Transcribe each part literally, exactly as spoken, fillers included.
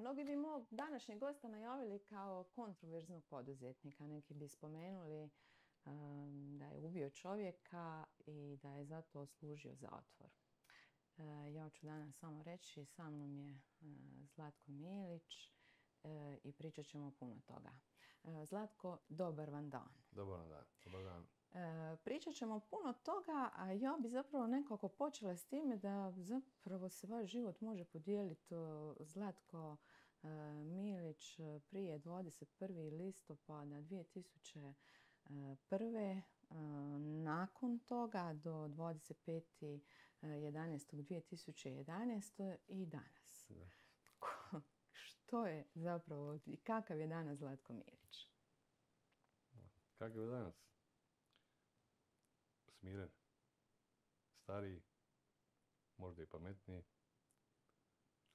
Mnogi bi mog današnjeg gosta najavili kao kontroverznog poduzetnika. Neki bi spomenuli um, da je ubio čovjeka i da je zato služio zatvor. Uh, ja ću danas samo reći, sa mnom je uh, Zlatko Milić uh, i pričat ćemo puno toga. Uh, Zlatko, dobar vam dan. Dobar vam dan. Dobar dan. Uh, pričat ćemo puno toga, a ja bi zapravo nekako počela s time da zapravo se vaš život može podijeliti. Uh, Zlatko uh, Milić prije dvadeset prvog listopada dvije tisuće prve. Uh, nakon toga do dvadeset petog jedanaestog dvije tisuće jedanaeste. i danas. Da. Što je zapravo i kakav je danas Zlatko Milić? Kakav je danas? Smiren, stariji, možda i pametniji,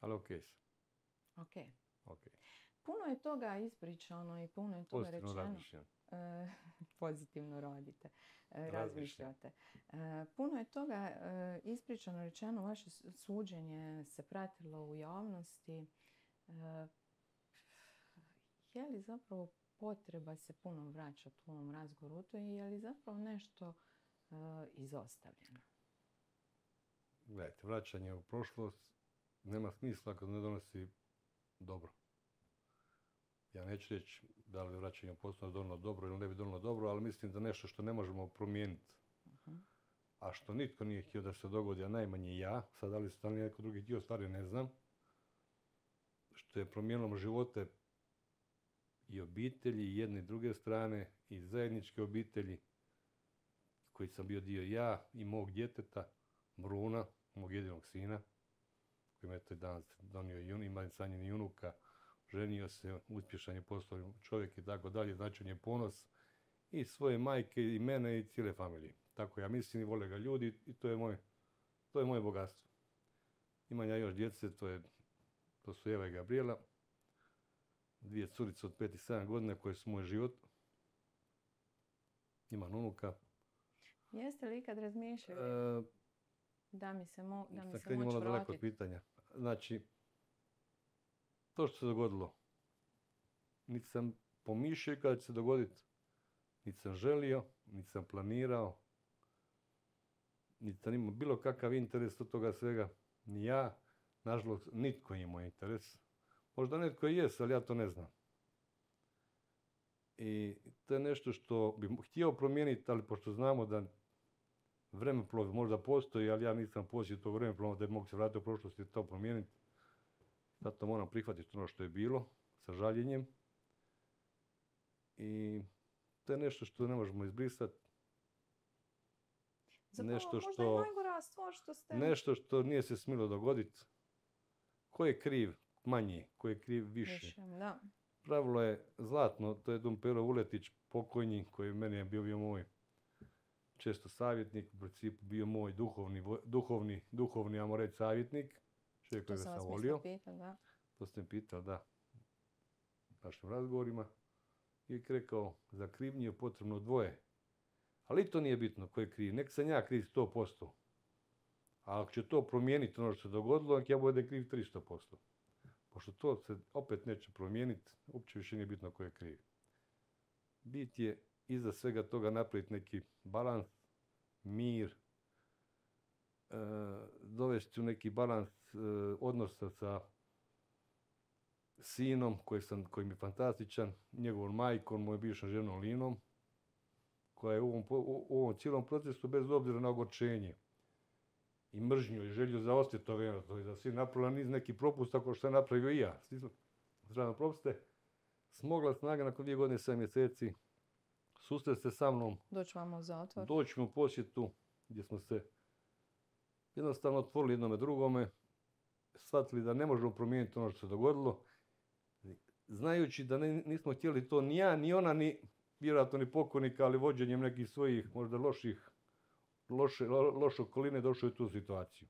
ali okej sam. Ok. Ok. Puno je toga ispričano i puno je toga Pozitivno rečeno. razmišljam. E, pozitivno radite, e, Razmišljam. razmišljate. E, puno je toga e, ispričano, rečeno, vaše suđenje se pratilo u javnosti. E, je li zapravo potreba se puno vraćati u ovom razgovoru to i je li zapravo nešto e, izostavljeno? Gledajte, vraćanje u prošlost nema smisla kad ne donosi dobro. Ja neću reći da li vraćanje u prošlost donalo dobro ili ne bi donalo dobro, ali mislim da nešto što ne možemo promijeniti, Uh-huh. a što nitko nije htio da se dogodi, a najmanje ja, sad da li se da li neko drugi htio, stvari ne znam, što je promijenilo živote i obitelji i jedne i druge strane i zajedničke obitelji koji sam bio dio ja i mog djeteta, Bruna, mog jedinog sina, koji me je danas donio jun, ima sanjeni junuka, ženio se, uspješan je postao čovjek i tako dalje, znači on je ponos i svoje majke i mene i cijele familije. Tako ja mislim i vole ga ljudi i to je moj, to je moje bogatstvo. Imam ja još djece, to, je, to su Eva i Gabriela, dvije curice od pet i sedam godina koje su moj život. Imam unuka. Jeste li ikad razmišljali E, da mi se, mo, da mi sad se krenimo moći ono daleko od vratiti? pitanja. Znači, to što se dogodilo, niti sam pomišljao kada će se dogoditi, niti sam želio, niti sam planirao, niti sam imao bilo kakav interes od toga svega. Ni ja, nažalost, nitko nije imao interes. Možda netko i jest, ali ja to ne znam. I to je nešto što bi htio promijeniti, ali pošto znamo da vremeplov možda postoji, ali ja nisam posjetio tog vremeplova da bi mogu se vratiti u prošlost i to promijeniti. Zato moram prihvatiti ono što je bilo, sa žaljenjem. I to je nešto što ne možemo izbrisati. Zapravo, Nešto možda što, je najgora stvar što ste... nešto što nije se smjelo dogoditi. Ko je kriv manje, ko je kriv više. Više, da. Pravilo je zlatno, to je Dom Pero Vuletić, pokojni, koji meni je bio, bio moj često savjetnik, u principu bio moj duhovni, duhovni, duhovni, ajmo reći, savjetnik. Čovjek To kojega sam vas sam mislila volio. pitat, da. To ste mi pitali, da, u našim razgovorima. I rekao, za krivnju je potrebno dvoje. Ali to nije bitno ko je kriv. Nek sam ja kriv sto posto. A ako će to promijeniti ono što se dogodilo, nek ja budem kriv tristo posto. Pošto to se opet neće promijeniti, uopće više nije bitno ko je kriv. Bit je iza svega toga napraviti neki balans, mir, e, dovesti u neki balans e, odnosa sa sinom koji, sam, koji mi je fantastičan, njegovom majkom, mojom bivšom ženom Linom, koja je u ovom, u, u ovom cijelom procesu, bez obzira na ogorčenje i mržnju i želju za osvjetovanje, to je da si napravila niz neki propust, ako što sam napravio i ja, zdravno propuste, smogla snaga nakon dvije godine i sedam mjeseci susret se sa mnom, Doći vam u zatvor. doći mi u posjetu gdje smo se jednostavno otvorili jednome drugome, shvatili da ne možemo promijeniti ono što se dogodilo, znajući da ne, nismo htjeli to ni ja, ni ona, ni vjerojatno ni pokojnika, ali vođenjem nekih svojih možda loših, loše, lo, loše okoline došlo je u tu situaciju.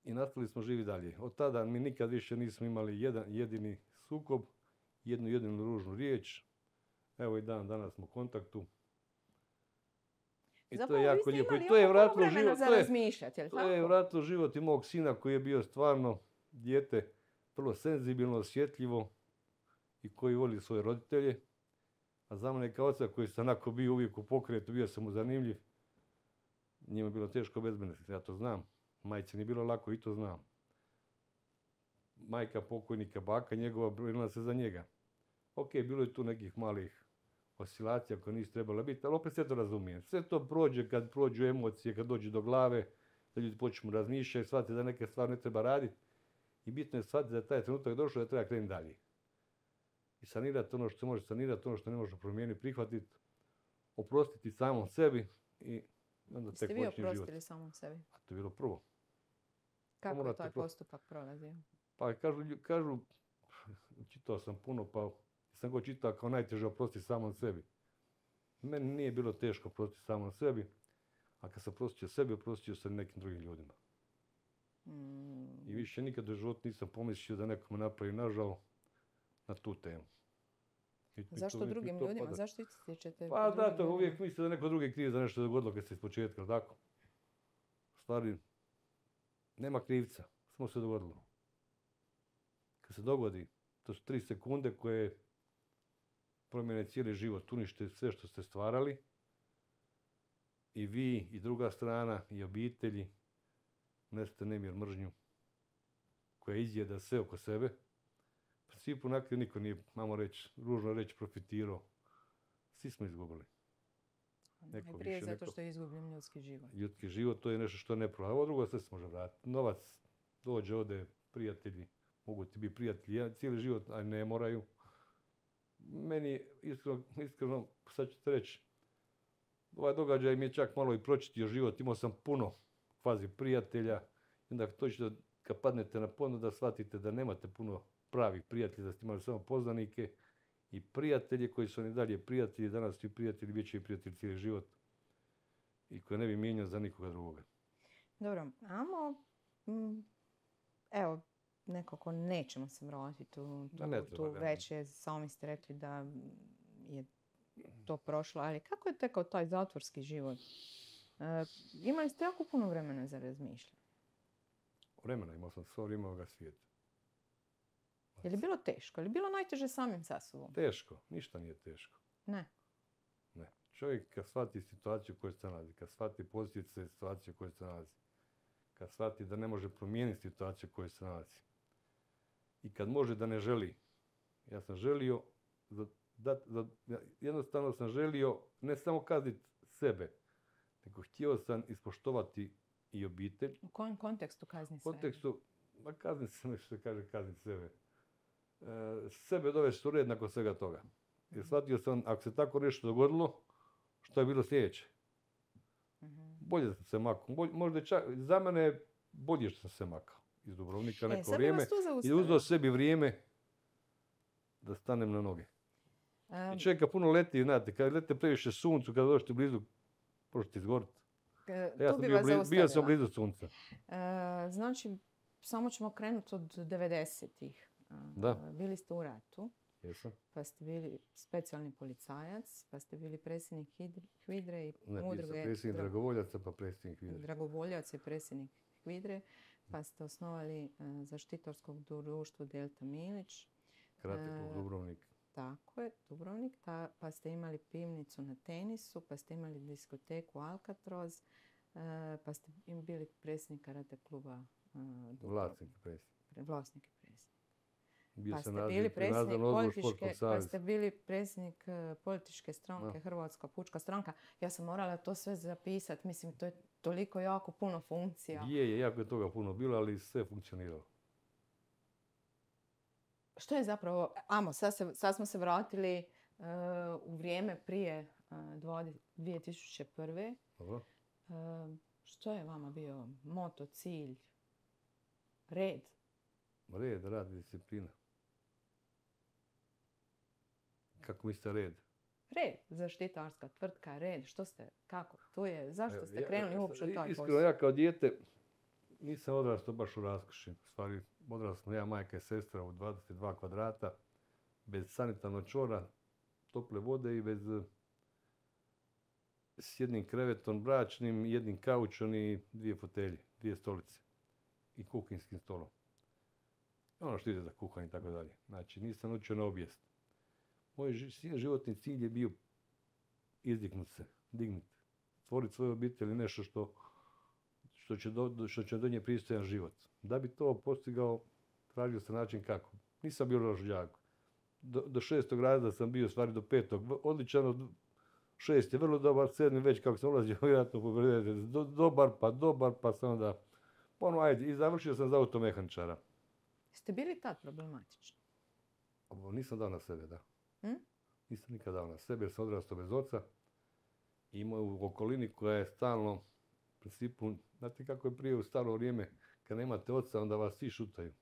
I nastavili smo živi dalje. Od tada mi nikad više nismo imali jedan jedini sukob, jednu jedinu ružnu riječ. Evo i dan danas smo u kontaktu. I Zapravo, to je jako vi ste lijepo. imali I to je ono vratilo vremena život. za To je, razmišljati, jel' to je tako? vratilo život i mog sina koji je bio stvarno dijete vrlo senzibilno, osjetljivo i koji voli svoje roditelje. A za mene kao oca koji sam onako bio uvijek u pokretu, bio sam mu zanimljiv, njima je bilo teško bez mene, ja to znam. Majci nije bilo lako i to znam. Majka pokojnika, baka njegova, brinula se za njega. Ok, bilo je tu nekih malih oscilacija koje nisu trebale biti, ali opet sve to razumijem. Sve to prođe kad prođu emocije, kad dođe do glave, da ljudi počnu razmišljati, shvatiti da neke stvari ne treba raditi. I bitno je shvatiti da je taj trenutak došao da treba krenuti dalje. I sanirati ono što se može sanirati, ono što ne može promijeniti, prihvatiti, oprostiti samom sebi i onda tek počne život. Jeste vi oprostili samom sebi? A to je bilo prvo. Kako je taj postupak prolazio? Pa kažu, kažu, čitao sam puno, pa sam go čitao kao najteže oprostiti samom sebi. Meni nije bilo teško oprostiti samom sebi, a kad sam oprostio sebi, oprostio sam nekim drugim ljudima. Mm. I više nikad u životu nisam pomislio da nekome napravi nažao na tu temu. I, Zašto to, drugim i to ljudima? Pada. Zašto ističete? Pa da, to uvijek misle da neko drugi kriv za nešto dogodilo kad se iz početka, tako? U stvari, nema krivca, samo se dogodilo. Kad se dogodi, to su tri sekunde koje promijene cijeli život, unište sve što ste stvarali. I vi, i druga strana, i obitelji, nesete nemir, mržnju, koja izjeda sve oko sebe. U principu na kraju niko nije, mamo reći, ružno reći, profitirao. Svi smo izgubili. Neko Najprije više, zato što je izgubljen ljudski život. Ljudski život, to je nešto što ne prođe. Ovo drugo sve se može vratiti. Novac dođe, ode, prijatelji, mogu ti biti prijatelji cijeli život, a ne moraju. Meni, iskreno, iskreno sad ću te reći, ovaj događaj mi je čak malo i pročitio život. Imao sam puno kvazi prijatelja. I onda točno kad padnete na ponos da shvatite da nemate puno pravih prijatelja, da ste imali samo poznanike i prijatelje koji su oni dalje prijatelji, danas su i prijatelji, bit će i prijatelji cijeli život i koje ne bi mijenjao za nikoga drugoga. Dobro, amo, m, evo, nekako nećemo se vratiti u tu, ne tu već je, sami ste rekli da je to prošlo, ali kako je tekao taj zatvorski život? E, imali ste jako puno vremena za razmišljanje. Vremena, imao sam svo vrijeme ovoga svijeta. Je li bilo teško? Je li bilo najteže samim sa sobom? Teško, ništa nije teško. Ne. Ne. Čovjek kad shvati situaciju u kojoj se nalazi, kad shvati posljedice situacije u kojoj se nalazi, kad shvati da ne može promijeniti situaciju u kojoj se nalazi i kad može da ne želi. Ja sam želio, za, da, za, jednostavno sam želio ne samo kazniti sebe, nego htio sam ispoštovati i obitelj. U kojem kontekstu kazni sebe? U kontekstu, ma kazni sebe, što se kaže kazni sebe. E, sebe dovesti u red nakon svega toga. Jer shvatio sam, ako se tako nešto dogodilo, što je bilo sljedeće? Mm-hmm. Bolje sam se makao. Bolje, možda čak, za mene je bolje što sam se makao iz Dubrovnika e, neko vrijeme i uzeo sebi vrijeme da stanem na noge. Um, I čovjeka puno leti, znate, kad lete previše suncu, kada dođete blizu, možete izgoriti. Uh, ja sam bio, blizu, bio sam blizu sunca. Uh, znači, samo ćemo krenuti od devedesetih. Uh, da. Bili ste u ratu. Jesam. Pa ste bili specijalni policajac, pa ste bili predsjednik Hvidre i ne, udruge... Ne, predsjednik dra... dragovoljaca, pa predsjednik Hvidre. Dragovoljac je predsjednik Hvidre, pa ste osnovali uh, zaštitarskog društvo Delta Milić. Karate klub Dubrovnik. Tako je, Dubrovnik. Ta, pa ste imali pivnicu na tenisu, pa ste imali diskoteku Alcatraz, uh, pa ste bili predsjednik karate kluba uh, Vlasnik i predsjednik. Vlasnik i predsjednik. Bio Pa ste, naziv, bili predsjednik političke, pa ste bili predsjednik uh, političke stranke, no. Hrvatska pučka stranka. Ja sam morala to sve zapisati. Mislim, to je toliko jako puno funkcija. Je, je, jako je toga puno bilo, ali sve funkcioniralo. Što je zapravo... Amo, sad, se, sad smo se vratili uh, u vrijeme prije uh, dvije tisuće prve. Dobro. Uh, što je vama bio moto, cilj, red? Red, rad, disciplina. Kako mislite red? Red, zaštitarska tvrtka, red, što ste, kako, to je, zašto ste krenuli ja, uopće u taj posao? Iskreno, ja kao dijete nisam odrastao baš u raskoši. U stvari, odrastao sam ja, majka i sestra u dvadeset dva kvadrata, bez sanitarnog čvora, tople vode i bez s jednim krevetom bračnim, jednim kaučom i dvije fotelje, dvije stolice i kuhinskim stolom. ono što ide za kuhanje i tako dalje. Znači, nisam naučio na obijest. Moj ži- životni cilj je bio izdignut se, dignut, stvoriti svoju obitelj i nešto što, što će do, što će donijeti pristojan život. Da bi to postigao, tražio sam način kako. Nisam bio loš đak. Do, do šestog razreda sam bio, stvari do petog, odličan, od šest je vrlo dobar, sedmi već kako sam ulazio, vjerojatno povedete, do, dobar, pa dobar, pa sam onda, ono, ajde, i završio sam za automehaničara. Ste bili tad problematični? Ovo nisam dao na sebe, da. Hm? Nisam nikad dao na sebe jer sam odrastao bez oca. I imao u okolini koja je stalno, u principu, znate kako je prije u staro vrijeme, kad nemate oca, onda vas svi šutaju.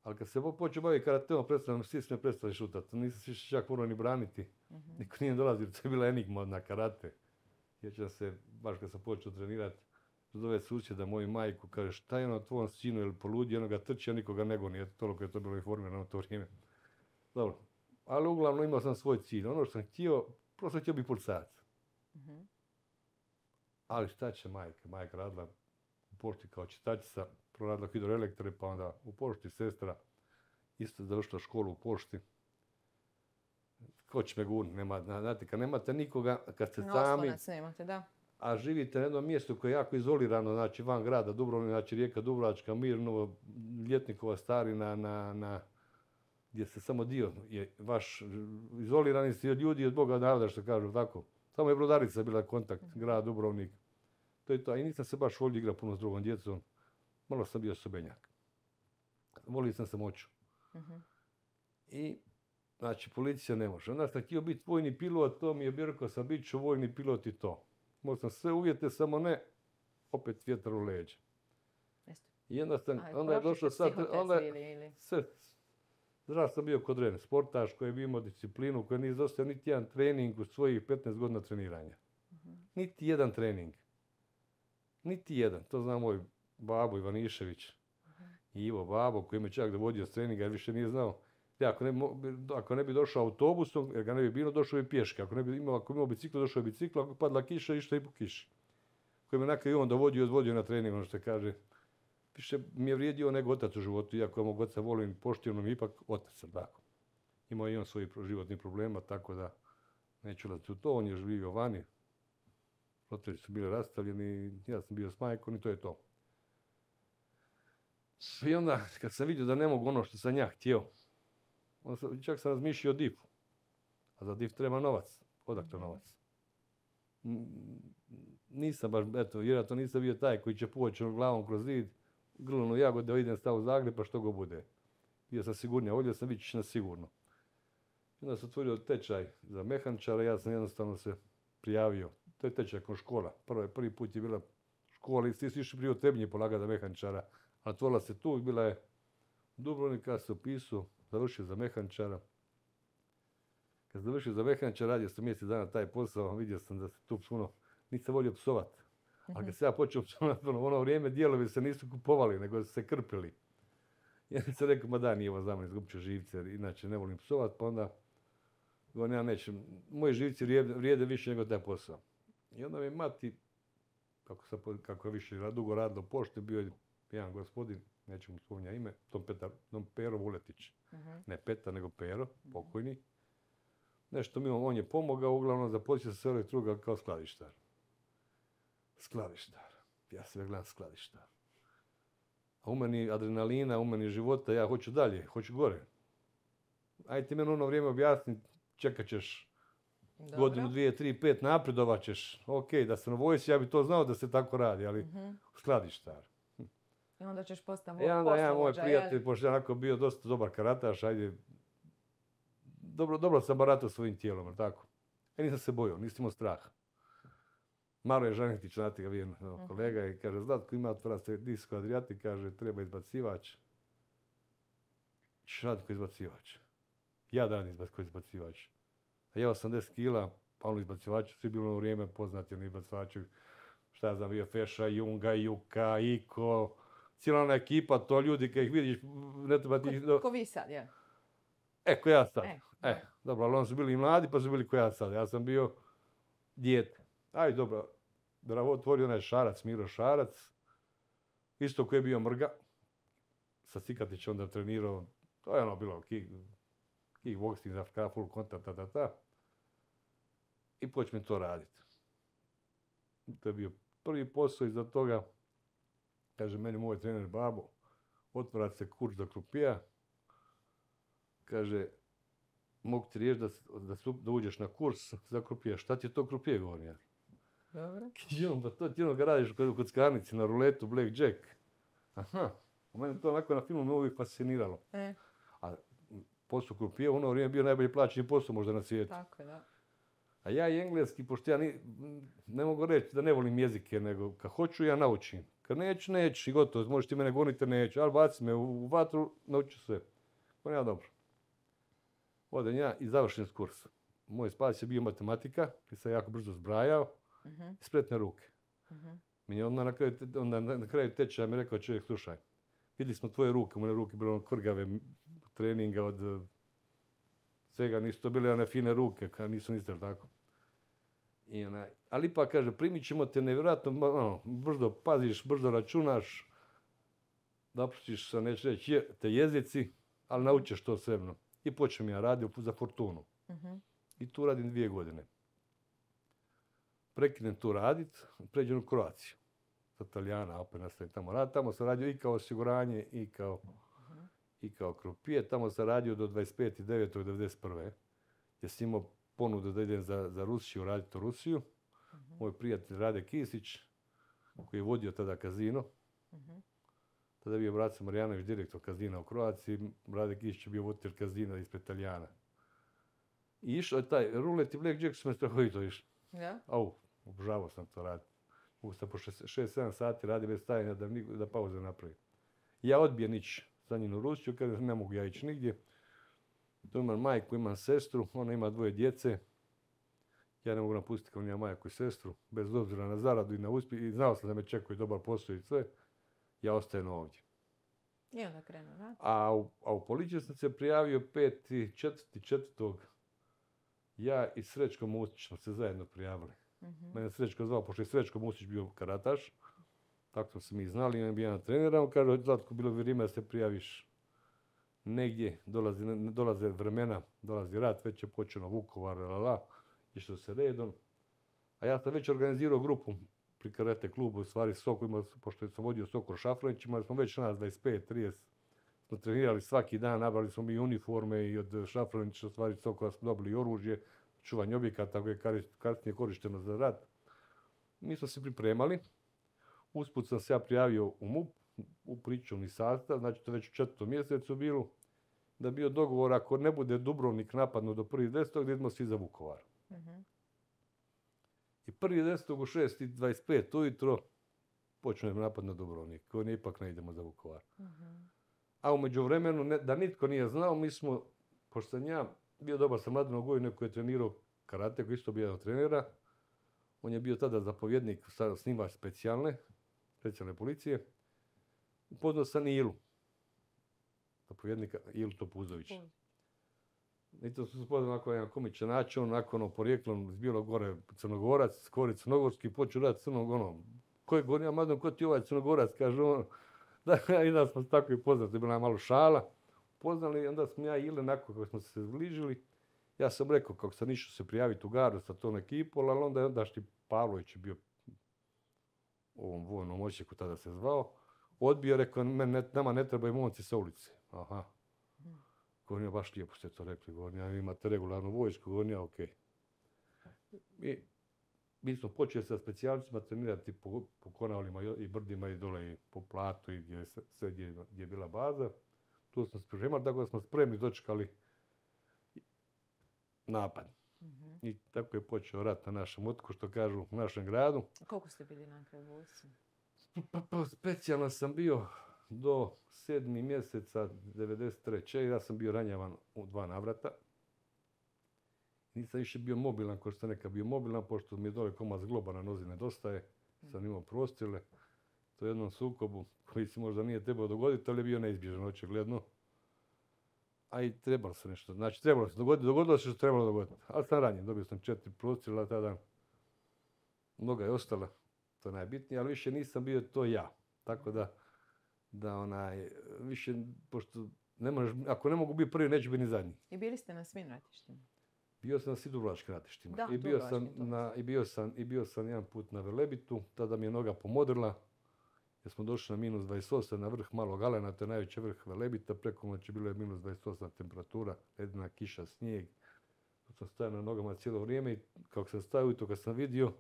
Ali kad se počeo baviti karateom, predstavljam, svi smo prestali šutati. Nisam se više čak morao ni braniti. Mhm. Niko nije dolazio, to je bila enigma na karate. Sjećam se, baš kad sam počeo trenirati, zove susjeda moju majku, kaže šta je ono tvojom sinu, je li poludio, ono ga trči, a nikoga nego nije, toliko je to bilo informirano u to vrijeme. Dobro, ali uglavnom imao sam svoj cilj. Ono što sam htio, prosto htio biti policajac. Mhm. Ali šta će majka? Majka radila u pošti kao čistačica, proradila hidroelektre, pa onda u pošti sestra, isto završila školu u pošti. Ko će me gurniti? Nema, znate, kad nemate nikoga, kad ste No, sami, oslonac nemate, da. a živite na jednom mjestu koje je jako izolirano, znači van grada, Dubrovnik, znači Rijeka Dubrovačka, Mirnovo, Ljetnikova Starina, na, na, gdje se samo dio je vaš, izolirani ste od ljudi, od Boga naroda, što kažu tako. Samo je Brodarica bila kontakt, grad Dubrovnik. To je to, a i nisam se baš volio igrati puno s drugom djecom. Malo sam bio sobenjak. Volio sam se moću. Mhm. I, znači, policija ne može. Onda sam htio biti vojni pilot, to mi je bio rekao sam, bit ću vojni pilot i to. Mogao sam sve uvjete, samo ne, opet vjetar u leđa. Jeste. I onda, sam, A, onda je prošli došlo ste sad, psihotest onda ili, ili? sve, zdrav sam bio kod Ren, sportaš koji je imao disciplinu, koji nije izostao niti jedan trening u svojih petnaest godina treniranja. Mhm. Niti jedan trening. Niti jedan. To zna moj babo Ivanišević. I Ivo babo koji me čak dovodio s treninga jer više nije znao. Ja, ako, ne, mo- ako ne bi došao autobusom, jer ga ne bi bilo, došao bi pješke. Ako ne bi imao, ako bi imao biciklo, došao bi biciklo. Ako bi padla kiša, išta i po kiši. Koji me nakon i on dovodio i odvodio na trening, ono što kaže. Više mi je vrijedio nego otac u životu, iako ja mog oca volim i poštivno mi ipak otac sam, tako. Imao i on svojih životnih problema, tako da neću ulaziti u to, on je živio vani. Roditelji su bili rastavljeni, ja sam bio s majkom i to je to. I onda, kad sam vidio da ne mogu ono što sam ja htio, onda sam, čak sam razmišljao o difu. A za dif treba novac. Odakle novac? N- Nisam baš, eto, vjerojatno nisam bio taj koji će poći glavom kroz zid, grlunu jagode, da idem stav u Zagreb, pa što go bude. Bio sam sigurnija, volio sam ići na sigurno. I onda sam otvorio tečaj za mehaničara, ja sam jednostavno se prijavio. To je tečaj kao škola. Prvi, prvi put je bila škola i svi su išli prije u Trebnje polagati za mehaničara. A otvorila se tu i bila je Dubrovnik, ja se upisao, završio za mehaničara. Kad sam završio za mehaničara, radio sam mjesec dana taj posao, vidio sam da se tu puno, nisam volio psovat. Ali kad sam ja počeo psovat, u ono vrijeme dijelovi se nisu kupovali, nego su se krpili. I onda sam rekao, ma da, nije ovo za mene, izgubit ću živce, jer inače ne volim psovat, pa onda govorim, ja nećem, moji živci vrijede, vrijede više nego taj posao. I onda mi mati, kako, sam, kako je više ra- dugo radilo u pošti, bio je jedan gospodin, neću mu spominjati ime, Tom, Petar, Tom Pero Vuletić. Mhm. Ne Petar, nego Pero, pokojni. Nešto mi on, on je pomogao, uglavnom započeo se sve elektroga kao skladištar. Skladištar. Ja se gledam skladištar. A u meni adrenalina, u meni života, ja hoću dalje, hoću gore. Ajde ti meni ono vrijeme objasni, čekat ćeš Dobro. godinu, dvije, tri, pet, napredovat ćeš. Ok, da sam u vojsci, ja bi to znao da se tako radi, ali Mhm. skladištar. I onda ćeš postati I onda ja, moj poslovođa, jel? prijatelj, pošto je onako bio dosta dobar karataš, ajde, dobro, dobro sam baratao svojim tijelom, jel tako? Ja nisam se bojao, nisam imao straha. Maro je Žanetić, znate ga vi, no, kolega, i kaže, Zlatko ima otvara se disko Adriatik, kaže, treba izbacivač. Ćeš raditi ko izbacivač. Ja dan izbac, ko izbacivač. A ja osamdeset kila, pa ono izbacivač, svi bilo u vrijeme poznati oni izbacivači, šta ja znam, bio Feša, Junga, Juka, Iko, cijela ona ekipa, to ljudi kad ih vidiš, ne treba ti... Ko, ko vi sad, jel? E, ko ja sad. E, E, dobro, ali oni su bili i mladi, pa su bili ko ja sad. Ja sam bio dijete. Aj, dobro, bravo, otvorio onaj Šarac, Miro Šarac, isto koji je bio Mrga, sa Cikatićem onda trenirao, to je ono bilo kick, kickboxing, Afrika, full contact, ta, ta, ta. I počnem to raditi. To je bio prvi posao, iza toga, kaže meni moj trener Babo, otvara se kurs za krupija, kaže, mogu ti riješiti da, da, da uđeš na kurs za krupija. Šta ti je to krupije, govorim ja? Dobro. Kaže, pa to ti ono ga radiš kod kockarnici na ruletu, blackjack. Aha, u mene to onako na filmu me uvijek fasciniralo. E. A posao krupije u ono vrijeme bio najbolji plaćeni posao možda na svijetu. Tako, da. A ja i engleski, pošto ja ni, ne mogu reći da ne volim jezike, nego kad hoću ja naučim. Kad neću, neću i gotovo, možeš ti mene goniti, neću, ali baci me u, u vatru, nauču sve. Pa ja dobro. Odem ja i završim s kursom. Moj spas je bio matematika, jer sam jako brzo zbrajao, Uh-huh. spretne ruke. Uh-huh. Mi je onda na kraju, onda na kraju tečaja mi rekao čovjek, slušaj, vidjeli smo tvoje ruke, moje ruke bile ono krgave treninga od svega, nisu to bile one fine ruke, kad nisu niste tako. I ona, ali ipak kaže, primit ćemo te nevjerojatno, ono, brzo paziš, brzo računaš, napustiš se, neću reći, je, te jezici, ali naučiš to svebno. I počnem ja raditi za Fortunu. Uh-huh. I tu radim dvije godine. Prekinem tu radit, pređem u Kroaciju. Sa Talijana, opet nastavim tamo raditi. Tamo sam radio i kao osiguranje i kao, uh-huh. i kao krupije. Tamo sam radio do dvadeset petog devetog devedeset prve. Jer sam imao ponudu da idem za, za Rusiju, raditi u Rusiju. Uh-huh. Moj prijatelj Rade Kisić, koji je vodio tada kazino. Uh-huh. Tada je bio Braco Marjanović, direktor kazina u Kroaciji. Rade Kisić je bio voditelj kazina ispred Talijana. I išao je taj rulet i blackjack su me strahovito išli. Ja? Au, obožavao sam to raditi. Mogu sam po šest sedam sati radi bez stajanja da, da pauze napravim. Ja odbijem ići sa njim u Rusiju, kada ne mogu ja ići nigdje. Tu imam majku, imam sestru, ona ima dvoje djece. Ja ne mogu napustiti kao njima majku i sestru, bez obzira na zaradu i na uspjeh. I znao sam da me čekaju dobar posao i sve. Ja ostajem ovdje. I onda krenuo rad. A u, a u policiju sam se prijavio peti četvrti četvrtog Ja i Srećko Mustić smo se zajedno prijavili. Uh-huh. Mene Srećko zvao, pošto je Srećko Mustić bio karataš. Tako smo se mi znali, imam bio jedan trenera. On kaže, Zlatko, bilo vrijeme da se prijaviš negdje. Dolazi, dolaze vremena, dolazi rat, već je počeno Vukovar, la, la, išlo se redom. A ja sam već organizirao grupu pri karate klubu, u stvari Sokol, imao, pošto sam vodio Sokol Šafranić, imali smo već nas dvadeset pet trideset. Smo trenirali svaki dan, nabrali smo mi uniforme i od Šafranića, u stvari Sokola smo dobili oružje, čuvanje objekata koje je kasnije korišteno za rat. Mi smo se pripremali. Usput sam se ja prijavio u M U P, u pričuvni sastav, znači to već u četvrtom mjesecu bilo, da je bio dogovor ako ne bude Dubrovnik napadno do prvog desetog da idemo svi za Vukovar. Uh-huh. I prvog desetog u šest i dvadeset pet ujutro počnemo napad na Dubrovnik, koji ipak ne idemo za Vukovar. Uh-huh. A u međuvremenu, ne, da nitko nije znao, mi smo, pošto sam ja bio dobar sa Mladenom Gojinom koji je trenirao karate, koji isto bio jedan trenera, on je bio tada zapovjednik, snimač specijalne, specijalne policije, upoznao sam Ilu, zapovjednika Ilu Topuzovića. I to su se upoznao onako jedan komičan način, onako ono porijeklom iz Bijelog Gore, Crnogorac, Kori Crnogorski, počeo raditi crnog ono, ko je govorio, Mladen, ko ti ovaj Crnogorac, kaže on. Da, i da smo se tako i poznali, to je bila malo šala. Poznali, onda smo ja i Ile, nakon kako smo se zbližili, ja sam rekao kako sam išao se prijaviti u Garu sa tom ekipom, ali onda je ondašnji Pavlović je bio u ovom vojnom odsjeku, tada se zvao, odbio, rekao, ne, nama ne trebaju momci sa ulice. Aha. Govorim, baš lijepo ste to rekli, govorim, ja, imate regularnu vojsku, govorim, ja, okej. Okay. Mi smo počeli sa specijalcima trenirati po, po Konavlima i brdima i dole i po Platu i gdje, sve gdje, gdje je bila baza. Tu smo se pripremali, tako da smo spremni dočekali napad. Mm-hmm. I tako je počeo rat na našem otoku, što kažu u našem gradu. A koliko ste bili na kraju vojsci? Pa, pa, specijalno sam bio do sedmi mjeseca devedeset treće Ja sam bio ranjavan u dva navrata. Nisam više bio mobilan, ko što sam nekad bio mobilan, pošto mi je dole komad zgloba na nozi nedostaje. Sam imao prostrile. To je jednom sukobu koji se možda nije trebao dogoditi, ali je bio neizbježan, očigledno. A i trebalo se nešto. Znači, trebalo se dogoditi. Dogodilo se što trebalo dogoditi. Ali sam ranjen. Dobio sam četiri prostrela tada. Noga je ostala. To je najbitnije, ali više nisam bio to ja. Tako da da onaj, više, pošto ne možeš, ako ne mogu biti prvi, neću biti ni zadnji. I bili ste na svim ratištima? Bio sam na svim dubrovačkim ratištima. Da, I bio sam dubrovačkim, to na, i bio sam, i bio sam jedan put na Velebitu, tada mi je noga pomodrila, jer smo došli na minus dvadeset osam na vrh Malog Alena, to je najveći vrh Velebita, preko noći bilo je minus dvadeset osam temperatura, ledena kiša, snijeg. Tu sam stajao na nogama cijelo vrijeme i kako sam stajao i to kad sam vidio,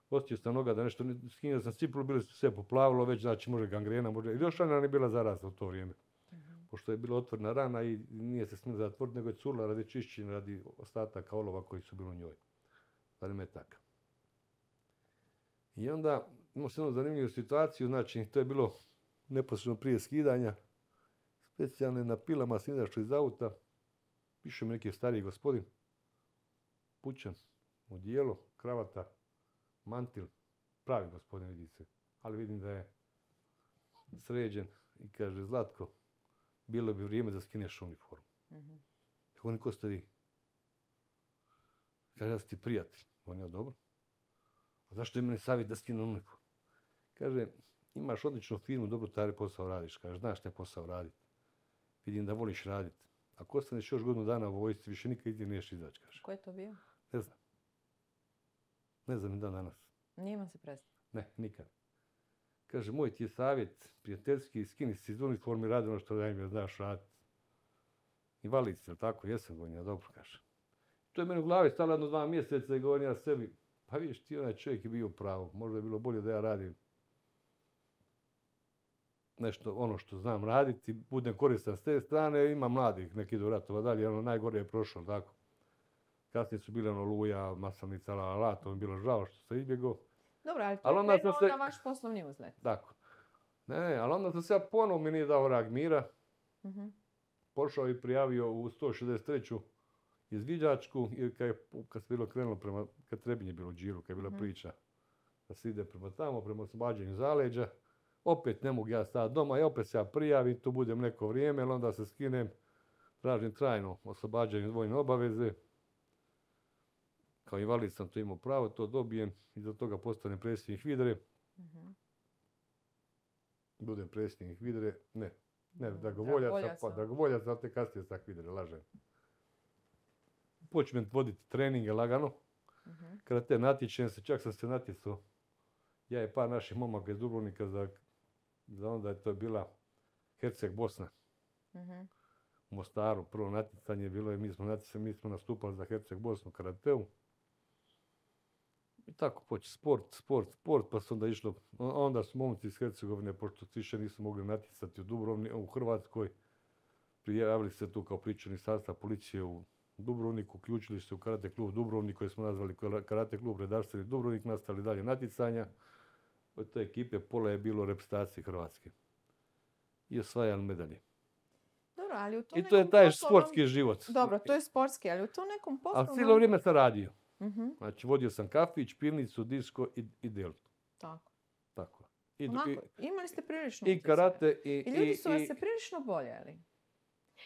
osjetio sam noga da nešto, skinio sam cipulu, bili su sve poplavilo, već znači može gangrena, može, i još rana nije bila zarazna u to vrijeme. Mhm. Pošto je bila otvorena rana i nije se smjela zatvoriti, nego je curila radi čišćenja, radi ostataka olova koji su bili u njoj. Radi metaka. I onda imamo se jednu zanimljivu situaciju, znači to je bilo neposredno prije skidanja, specijalne na pilama sam izašao iz auta, piše mi neki stariji gospodin, pučan, odijelo, kravata, mantil, pravi gospodin vidi se, ali vidim da je sređen i kaže, Zlatko, bilo bi vrijeme da skineš uniformu. Mhm. Kako niko ste vi? Kaže, ja sam ti prijatelj. On je dobro. A zašto je meni savjet da skinem uniformu? Kaže, imaš odličnu firmu, dobro taj posao radiš. Kaže, znaš taj posao raditi. Vidim da voliš raditi. Ako ostaneš još godinu dana u vojsci, više nikad idje niješ izaći, kaže. Ko je to bio? Ne znam. Ne znam ni dan danas. Nije vam se predstavio. Ne, nikad. Kaže, moj ti je savjet, prijateljski, skini se iz uniforme i radi ono što da im znaš raditi. Invalid si, jel tako? Jesam, govorim ja, dobro, kaže. To je meni u glavi stalo jedno dva mjeseca i govorim ja sebi, pa vidiš ti, onaj čovjek je bio u pravu. Možda je bilo bolje da ja radim nešto, ono što znam raditi, budem koristan s te strane, ima mladih, neki idu ratova dalje, ono najgore je prošlo, tako. Kasnije su bile ono Luja, Maslenica, la, la, la, to mi je bilo žao što sam izbjegao. Dobro, ali to Ali je onda krenuo sam se- na vaš poslovni uzlet. Tako. Ne, ne, ali onda sam se ja ponovo mi nije dao rag mira, Mhm. pošao i prijavio u sto šezdeset treću izviđačku i kad, je, kad se bilo krenulo prema, kad Trebinje bilo u Điru, kad je bila Mhm. priča da se ide prema tamo, prema oslobađanju zaleđa, opet ne mogu ja stati doma i opet se ja prijavim, tu budem neko vrijeme, ali onda se skinem, tražim trajno oslobađanje od vojne obaveze. Kao invalid sam to imao pravo, to dobijem i za toga postanem predsjednik Vidre. Mhm. Budem predsjednik Vidre, ne, ne, Mm, Dragovoljaca, Dragovoljaca. pa Dragovoljaca, ali te kasnije sam Vidre, lažem. Počnem voditi treninge lagano, Mhm. kada te natječem se, čak sam se natjecao, ja i par naših momaka iz Dubrovnika, za, za onda je to bila Herceg Bosna Mhm. u Mostaru, prvo natjecanje bilo je, mi smo natjecali, mi smo nastupali za Herceg Bosnu karateu. I tako poče sport, sport, sport, pa su onda išlo, onda su momci iz Hercegovine, pošto se više nisu mogli natjecati u Dubrovni, u Hrvatskoj, prijavili se tu kao pričani sastav policije u Dubrovniku, uključili se u karate klub Dubrovnik, koji smo nazvali karate klub Redarstveni Dubrovnik, nastavili dalje natjecanja. Od te ekipe pola je bilo reprezentacije Hrvatske. I osvajali medalje. Dobro, ali u tom I to je nekom taj poslovnom- sportski život. Dobro, to je sportski, ali u tom nekom Ali poslovnom... cijelo vrijeme sam radio. Mhm. Znači, vodio sam kafić, pivnicu, disko i, i deltu. Tako. Tako. I, Onako, i, imali ste prilično i utjecaja. karate i... I ljudi i- su vas i- se prilično boljeli.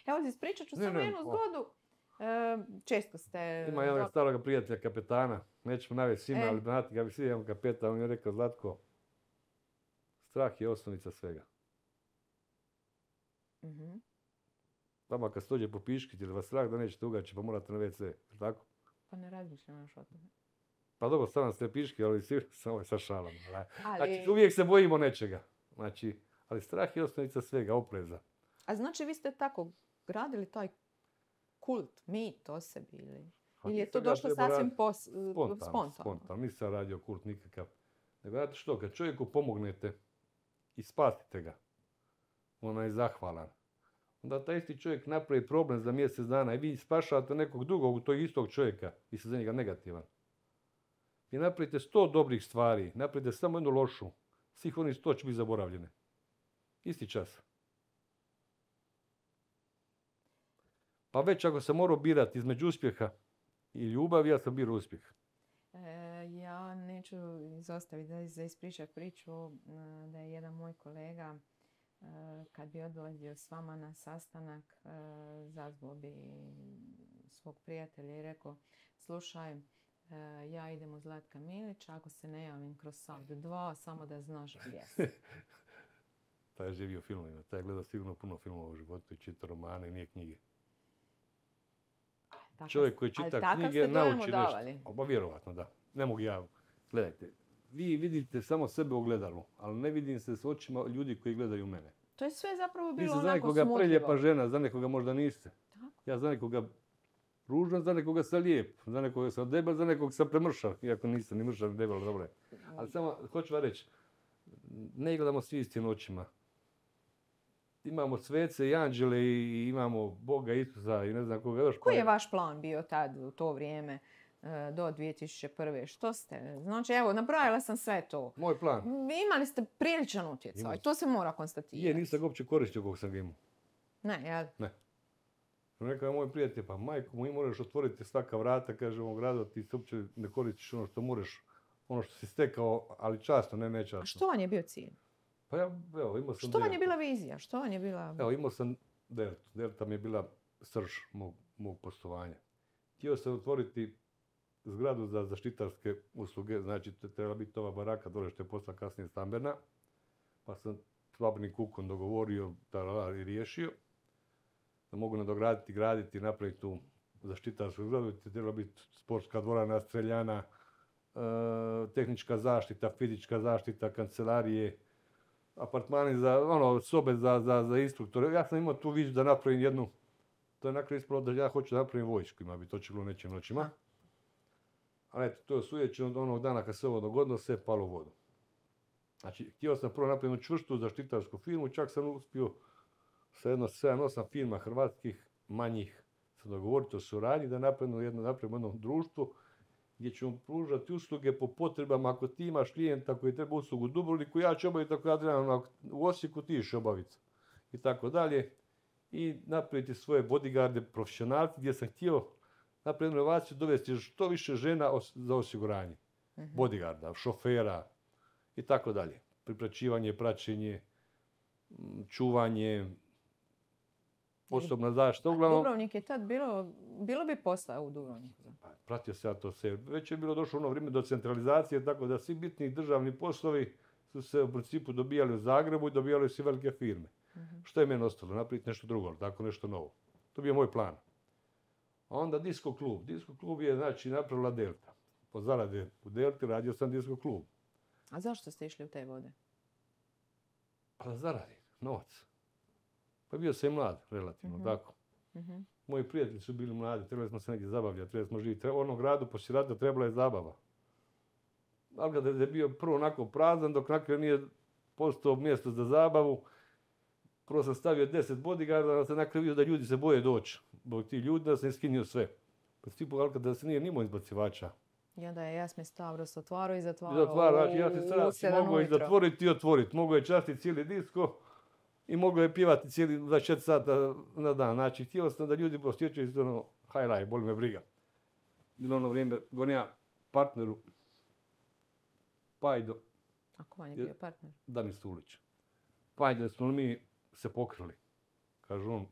Evo, ispričat ću Ne, samo ne, jednu o. zgodu. E, često ste... Ima jednog do- starog prijatelja, kapetana. Nećemo navesti ime, E. ali znate ga bi svi imam kapetan. On je rekao, Zlatko, strah je osnovnica svega. Mhm. Vama kad se dođe po piškiti ili vas strah da nećete ugaći pa morate na ve ce. Tako? Pa ne razmišljam još o tome. Pa dobro, stavljam ste piški, ali svi samo je sa šalom. ali- Ali, Znači, uvijek se bojimo nečega. Znači, ali strah je osnovnica svega, opreza. a znači vi ste tako gradili taj kult, mit o sebi ili... Pa Ili je nisam to ja došlo trebao sasvim raditi pos, Spontano, spontano? spontano. Nisam radio kult nikakav. Nego znate što, kad čovjeku pomognete i spasite ga, ona je zahvalan. Onda taj isti čovjek napravi problem za mjesec dana i vi spašavate nekog drugog, tog istog čovjeka, vi ste za njega negativan. Vi napravite sto dobrih stvari, napravite samo jednu lošu, svih onih sto će biti zaboravljene. Isti čas. Pa već ako sam morao birati između uspjeha i ljubavi, ja sam birao uspjeh. E, ja neću izostaviti da za ispričat priču e, da je jedan moj kolega e, kad bi odlazio s vama na sastanak e, zazvao bi svog prijatelja i rekao slušaj, e, ja idem u Zlatka Milića, ako se ne javim kroz sat dva, samo da znaš gdje sam. taj je živio filmovima, taj je gledao sigurno puno filmova u životu i čita romane i nije knjige. Tako, Čovjek koji ali čita takav knjige ste dojam nauči odavali. nešto. Pa vjerovatno da. Ne mogu ja. Gledajte, vi vidite samo sebe u ogledalu, ali ne vidim se s očima ljudi koji gledaju mene. To je sve zapravo Vi bilo ste za onako nekoga smutljivo. preljepa žena, za nekoga možda niste. Tako. Ja za nekoga ružan, za nekoga sam lijep, za nekoga sam debel, za nekoga sam premršav, iako nisam ni mršav ni debel, dobro je. Ali samo hoću vam reći, ne gledamo svi istim očima. Imamo svece i anđele i imamo Boga, Isusa i ne znam koga još. Koji je vaš plan bio tad u to vrijeme e, do dvije tisuće prve? Što ste? Znači, evo, nabrojala sam sve to. Moj plan. Imali ste priličan utjecaj, Imao sam. to se mora konstatirati. Je, nisam ga uopće koristio kog sam ga imao. Ne, jel? Ne. Rekao je moj prijatelj, pa majko moj, moraš otvoriti svaka vrata, kaže ovog grada, ti se uopće ne koristiš ono što moraš, ono što si stekao, ali časno, ne nečasno. A što vam je bio cilj? Pa ja, evo, imao sam Što vam je Deltu. bila vizija? Što vam je bila... Evo, imao sam Deltu. Delta mi je bila srž mog, mog poslovanja. Htio sam otvoriti zgradu za zaštitarske usluge, znači to je trebala biti ova baraka dole što je postala kasnije stambena, pa sam s Babnim Kukom dogovorio tarala, i riješio da mogu nadograditi, graditi, napraviti tu zaštitarsku zgradu. To je trebala biti sportska dvorana, streljana, e, tehnička zaštita, fizička zaštita, kancelarije, apartmani za, ono, sobe za, za, za instruktore. Ja sam imao tu viziju da napravim jednu, to je nakon ispalo da ja hoću da napravim vojsku, ima bi to će bilo nećim noćima. Ali eto, to je sujećeno od onog dana kad se ovo dogodilo, sve je palo u vodu. Znači, htio sam prvo napraviti jednu čvrstu zaštitarsku firmu, čak sam uspio sa jedno sedam osam firma hrvatskih, manjih, se dogovoriti o suradnji da napravimo jedno, napravimo jedno društvo gdje ćemo pružati usluge po potrebama. Ako ti imaš klijenta koji treba uslugu u Dubrovniku, ja ću obaviti ako ja trebam u Osijeku, ti ćeš obaviti. I tako dalje. I napraviti svoje bodyguarde, profesionalci, gdje sam htio napraviti jednu inovaciju, dovesti što više žena os- za osiguranje. Mhm. Bodyguarda, šofera i tako dalje. Pripraćivanje, praćenje, m, čuvanje, osobna zaštita. Uglavnom, Dubrovnik je tad bilo, bilo bi posla u Dubrovniku. pa, pratio se ja to sve. Već je bilo došlo ono vrijeme do centralizacije, tako da svi bitni državni poslovi su se u principu dobijali u Zagrebu i dobijali su i velike firme. Mhm. Što je meni ostalo? Napraviti nešto drugo, tako nešto novo. To je bio moj plan. A onda disko klub. Disko klub je, znači, napravila Delta. Po zarade u Delti radio sam disko klub. A zašto ste išli u te vode? Pa da zaradi, novac. Pa bio sam i mlad, relativno, Mhm. tako. Mhm. Moji prijatelji su bili mladi, trebali smo se negdje zabavljati, trebali smo živjeti. U onom gradu poslije rata trebala je zabava. Ali kada je bio prvo onako prazan, dok nakon nije postao mjesto za zabavu, prvo sam stavio deset bodyguarda, ali sam nakon vidio da ljudi se boje doći. Zbog ti ljudi da sam iskinio sve. Pa stipu, ali kada se nije nimao izbacivača. I onda je Jasmin Stavros otvarao i I zatvarao. zatvara, znači ja se u sad sedam mogao i ujutro. zatvoriti i otvoriti. Mogao je častiti cijeli disko i mogao je pjevati cijeli dvadeset četiri sata na dan. Znači, htio sam da ljudi posjećaju se ono high life, boli me briga. Bilo ono vrijeme, govorim ja partneru, Pajdo, A ko vam je bio partner? Danis Tulić. Pajdo, smo li mi se pokrili? Kaže on,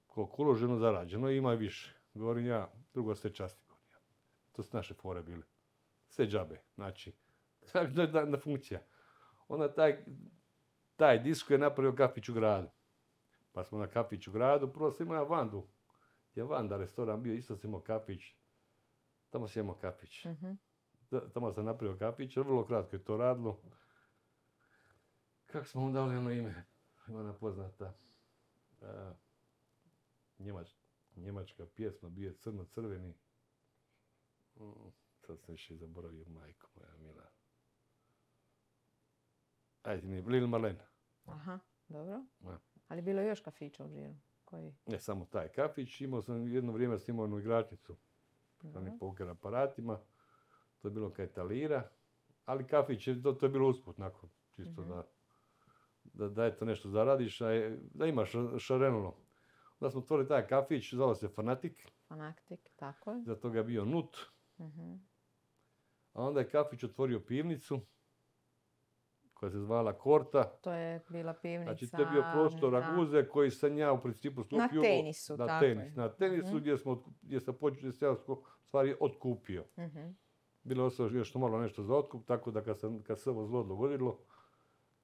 koliko uloženo, zarađeno, ima i više. Govorim ja, drugo sve časti. Govorim ja. To su naše fore bile. Sve džabe, znači. To je da- da funkcija. Onda taj, taj disko je napravio kafić u gradu. Pa smo na kafić u gradu, prvo sam imao Vandu. Je Vanda restoran bio, isto sam imao kafić. Tamo sam imao kafić. Mhm. Da- Tamo sam napravio kafić, vrlo kratko je to radilo. Kako smo mu dali ono ime? Ima ona poznata. a, Njemač, njemačka pjesma, bio je crno-crveni. Mm, sad sam više zaboravio, majko moja mila. Ajde, nije, Lil Marlene. Aha, dobro. Da. Ali bilo je još kafića u Žiru. Koji? Ne samo taj kafić, imao sam jedno vrijeme snimao jednu igračnicu sa Dobro. onim poker aparatima. To je bilo kaj talira, ali kafić je, to, to je bilo usput, nakon, čisto Mhm. da, da, da eto nešto zaradiš, a je, da imaš šarenulo. Onda smo otvorili taj kafić, zvao se Fanatik, Fanatik, tako je. za toga je bio Nut, Mhm. a onda je kafić otvorio pivnicu, koja se zvala Korta. To je bila pivnica. Znači, to je bio prostor da. Raguze koji sam ja u principu stupio. tenisu, na tako tenis, je. Na tenisu Mhm. gdje, smo, otku- gdje sam počeo, gdje sam ja sko- stvari otkupio. Mhm. Bilo je ostalo još malo nešto za otkup, tako da kad, sam, kad se ovo zlo dogodilo,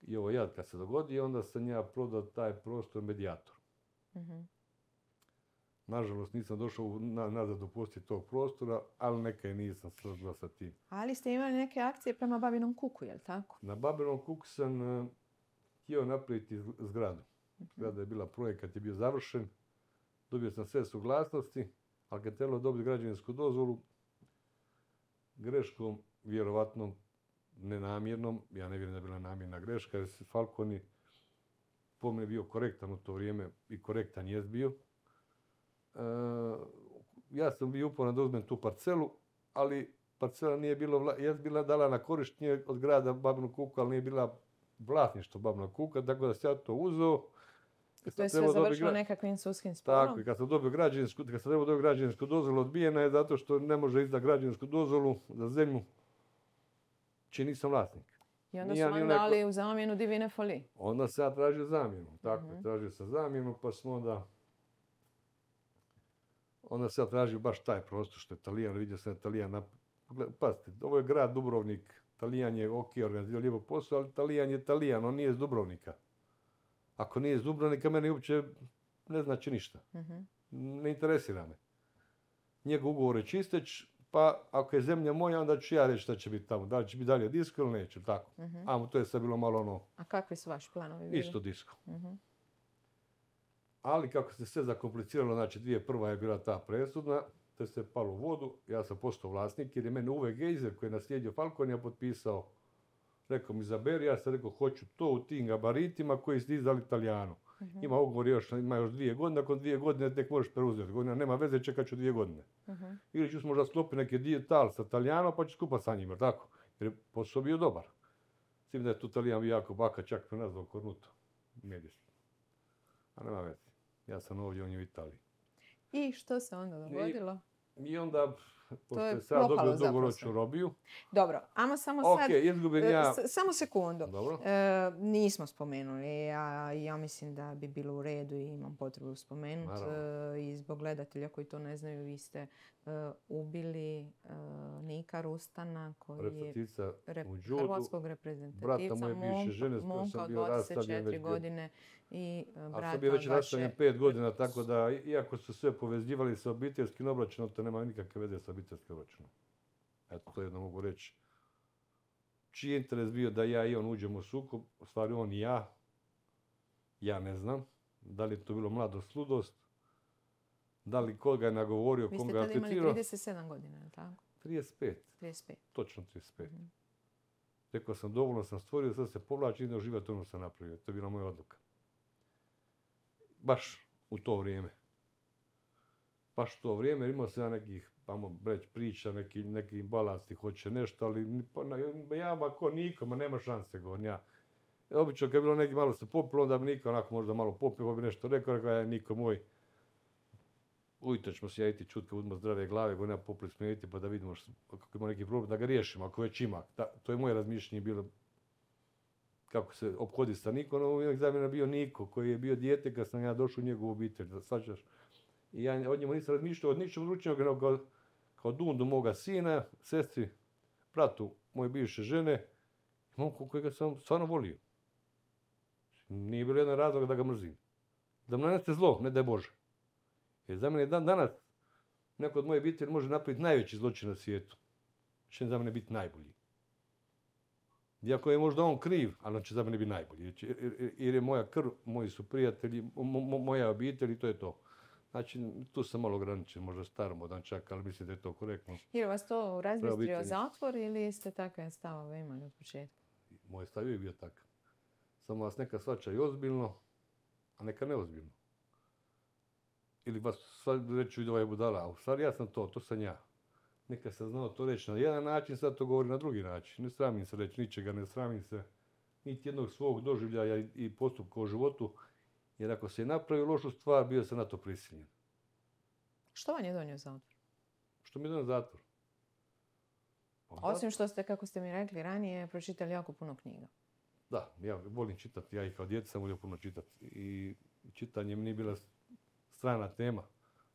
I ovo jad kad se dogodi, onda sam ja prodao taj prostor medijatoru. Mhm. Nažalost, nisam došao u- na, nazad u posjed tog prostora, ali neka i nisam složila sa tim. Ali ste imali neke akcije prema Babinom kuku, je li tako? Na Babinom kuku sam uh, htio napraviti z- zgradu. Zgrada je bila, projekat je bio završen, dobio sam sve suglasnosti, ali kad je trebalo dobiti građevinsku dozvolu, greškom, vjerovatno nenamjernom, ja ne vjerujem da je bila namjerna greška, jer se Falconi po mene bio korektan u to vrijeme i korektan jest bio. E, ja sam bio uporan da uzmem tu parcelu, ali parcela nije bilo, vla- jest bila dala na korištenje od grada Babinog kuka, ali nije bila vlasništvo Babinog kuka, tako da sam ja to uzeo. To je sve završilo nekakvim sudskim sporom. Tako, i kad sam dobio građevinsku, kad sam trebao dobiti građevinsku dozvolu, odbijena je zato što ne može izdati građevinsku dozvolu za zemlju čiji nisam vlasnik. I onda Nije su ni vam onaj ko- dali u zamjenu divine foli. Onda sam ja tražio zamjenu. Tako, Mhm. tražio sam zamjenu, pa smo onda... Onda sam ja tražio baš taj prostor što je Talijan, vidio sam da je Talijan... Nap... Gle- Pazite, ovo je grad Dubrovnik, Talijan je ok, organizirao lijepo posao, ali Talijan je Talijan, on nije iz Dubrovnika. Ako nije iz Dubrovnika, meni uopće ne znači ništa. Mhm. Ne interesira me. Njegov ugovor je čisteć, pa ako je zemlja moja, onda ću ja reći šta će biti tamo. Da li će biti dalje disko ili neće, tako. Mhm. A to je sad bilo malo ono, A kakvi su vaši planovi bili? isto disko. Mhm. Ali kako se sve zakompliciralo, znači dvije prva je bila ta presudna, to se palo u vodu, ja sam postao vlasnik jer je mene Uwe Geiser koji je naslijedio Falconija potpisao, rekao mi izaberi, ja sam rekao hoću to u tim gabaritima koji ste izdali Italijanu. Mhm. Ima ugovor još, ima još dvije godine, nakon dvije godine tek možeš preuzeti. Godina nema veze, čekat ću dvije godine. Mhm. Ili ću možda sklopiti neki dijetal sa Italijanom pa ću skupa sa njima, tako? Jer je posao bio dobar. S tim da je tu Italijan bio jako baka, čak me nazvao Cornuto. Medijski. A nema veze. Ja sam ovdje, on je u Italiji. I što se onda dogodilo? I onda, pošto je je sad propalo dobio dugoročnu zapravo. robiju, Dobro, ajmo samo ok, sad... izgubim e, ja... s- samo sekundu. Dobro. E, nismo spomenuli, a ja mislim da bi bilo u redu i imam potrebu spomenuti. Naravno. I zbog gledatelja koji to ne znaju, vi ste e, ubili e, Nika Rustana, koji je Reprezentativca rep- u judu, hrvatskog reprezentativca, brata moje bivše žene s kojom momka sam od bio rastavljen dvadeset četiri već bio- godine i e, A brata sam bio već od vaše- rastavljen pet godina, tako da, i- iako su sve povezivali sa obiteljskim obračunom, to nema nikakve veze sa obiteljskim obračunom. Eto, to jedno mogu reći. Čiji je interes bio da ja i on uđemo u sukob, u stvari on i ja, ja ne znam. Da li je to bilo mladost, ludost, da li koga je nagovorio, Vi koga ste je tada imali atletirao. trideset sedam godina, je li tako? trideset pet, trideset pet. točno trideset pet. Mhm. Rekao sam, dovoljno sam stvorio, sad se povlačim i idem uživati ono što sam napravio. To je bila moja odluka. Baš u to vrijeme. Baš u to vrijeme, jer imao sam ja nekih, tamo reći, priča, neki, neki balansti, hoće nešto, ali ni- pa, na- ja ma ko niko, ma nema šanse, govorim ja. Obično kad je bilo neki malo se popilo, onda bi niko onako možda malo popio, pa bi nešto rekao, rekao ja, niko moj. Ujutro ćemo se ja iti čut kad budemo zdrave glave, govorim ja popili smo iti pa da vidimo što, ako ima neki problem, da ga riješimo, ako već ima. Da, to je moje razmišljanje bilo kako se ophodi sa Nikom, no uvijek za mene bio Niko, koji je bio dijete kad sam ja došao u njegovu obitelj, da svačaš. I ja od njemu nisam razmišljao od ničeg drugčijeg nego kao, kao Dundu moga sina, sestri, bratu moje bivše žene, momku kojega sam stvarno volio. Nije bilo jedan razlog da ga mrzim. Da mu nanese zlo, ne daj Bože. Jer za mene dan danas neko od moje obitelji može napraviti najveći zločin na svijetu. Će za mene biti najbolji. Iako je možda on kriv, ali on će za mene biti najbolji. Jer, će- jer- jer- jer je moja krv, moji su prijatelji, mo- mo- moja obitelj i to je to. Znači, tu sam malo ograničen, možda staromodan čak, ali mislim da je to korektno. Je li vas to razbistrio obitelji. zatvor ili ste takve stavove imali od početka? Moj stav je bio takav. Samo vas neka svača i ozbiljno, a neka neozbiljno. Ili vas sad reću i da ovaj budala, a u stvari ja sam to, to sam ja. Neka sam znao to reći na jedan način, sad to govori na drugi način. Ne sramim se reći ničega, ne sramim se niti jednog svog doživljaja i- i postupka u životu, jer ako se je napravio lošu stvar, bio sam na to prisiljen. Što vam je donio zatvor? Što mi je dan zatvor? Pa Osim što ste, kako ste mi rekli ranije, pročitali jako puno knjiga. Da, ja volim čitati, ja i kao djeca sam volio puno čitati. I čitanje mi nije bila strana tema,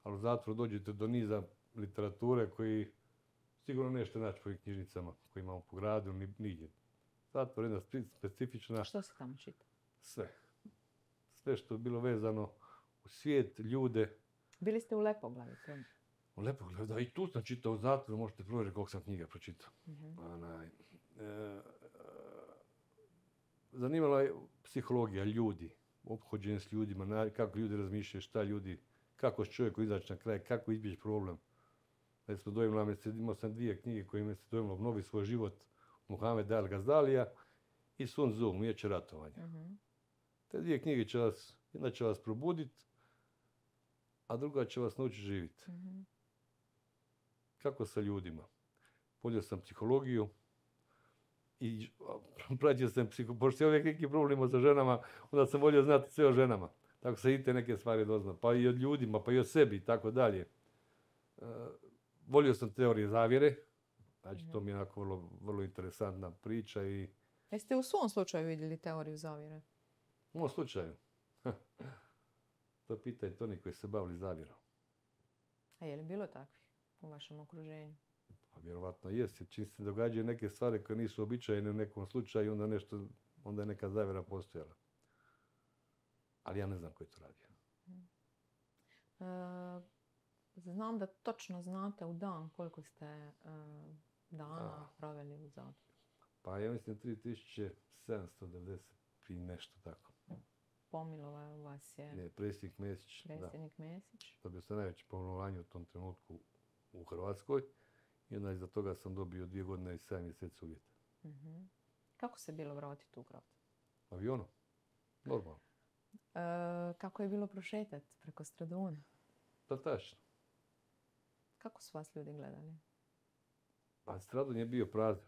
ali u zatvoru dođete do niza literature koji sigurno nećete naći po ovim knjižnicama koje imamo po gradu, ni, nigdje. Zatvor je jedna spe- specifična Što se tamo čita? sve. Sve što je bilo vezano u svijet, ljude. Bili ste u Lepoglavi? to- U Lepoglavi, da, i tu sam čitao u zatvoru, možete provjeriti koliko sam knjiga pročitao. Mhm. Onaj, e, e, zanimala je psihologija ljudi, ophođenje s ljudima, na- kako ljudi razmišljaju, šta ljudi, kako s čovjekom izaći na kraj, kako izbjeći problem. Recimo, dojmila me se, imao sam dvije knjige koje me se dojmilo obnovi svoj život, Muhammed Al Gazdalija i Sun Tzu, Umijeće ratovanja. Mhm. Te dvije knjige će vas, jedna će vas probuditi, a druga će vas naučiti živjeti. Mhm. Kako sa ljudima. Volio sam psihologiju i pratio sam psiho... Pošto je uvijek neki problem sa ženama, onda sam volio znati sve o ženama. Tako se i te neke stvari doznam. Pa i od ljudima, pa i o sebi i tako dalje. E, volio sam teorije zavjere. Znači, to mi je onako vrlo, vrlo interesantna priča i Jeste u svom slučaju vidjeli teoriju zavjere? u ovom slučaju. To pitajte oni koji se bavili zavjerom. A je li bilo takvih u vašem okruženju? Pa vjerovatno jest, jer čim se događaju neke stvari koje nisu običajne u nekom slučaju, onda nešto, onda je neka zavjera postojala. Ali ja ne znam ko je to radio. E, znam da točno znate u dan koliko ste e, dana A. proveli u zatvoru. Pa ja mislim tri tisuće sedamsto devedeset i nešto tako. Pomilovao vas je Ne, predsjednik Mesić, da. predsjednik Mesić. Dobio sam najveće pomilovanje u tom trenutku u Hrvatskoj. I onda iza toga sam dobio dvije godine i sedam mjeseci uvjeta. Mhm. Kako se bilo vratiti u grad? Avionom. Normalno. E, kako je bilo prošetati preko Straduna? Pa tačno. Kako su vas ljudi gledali? Pa Stradun je bio prazan.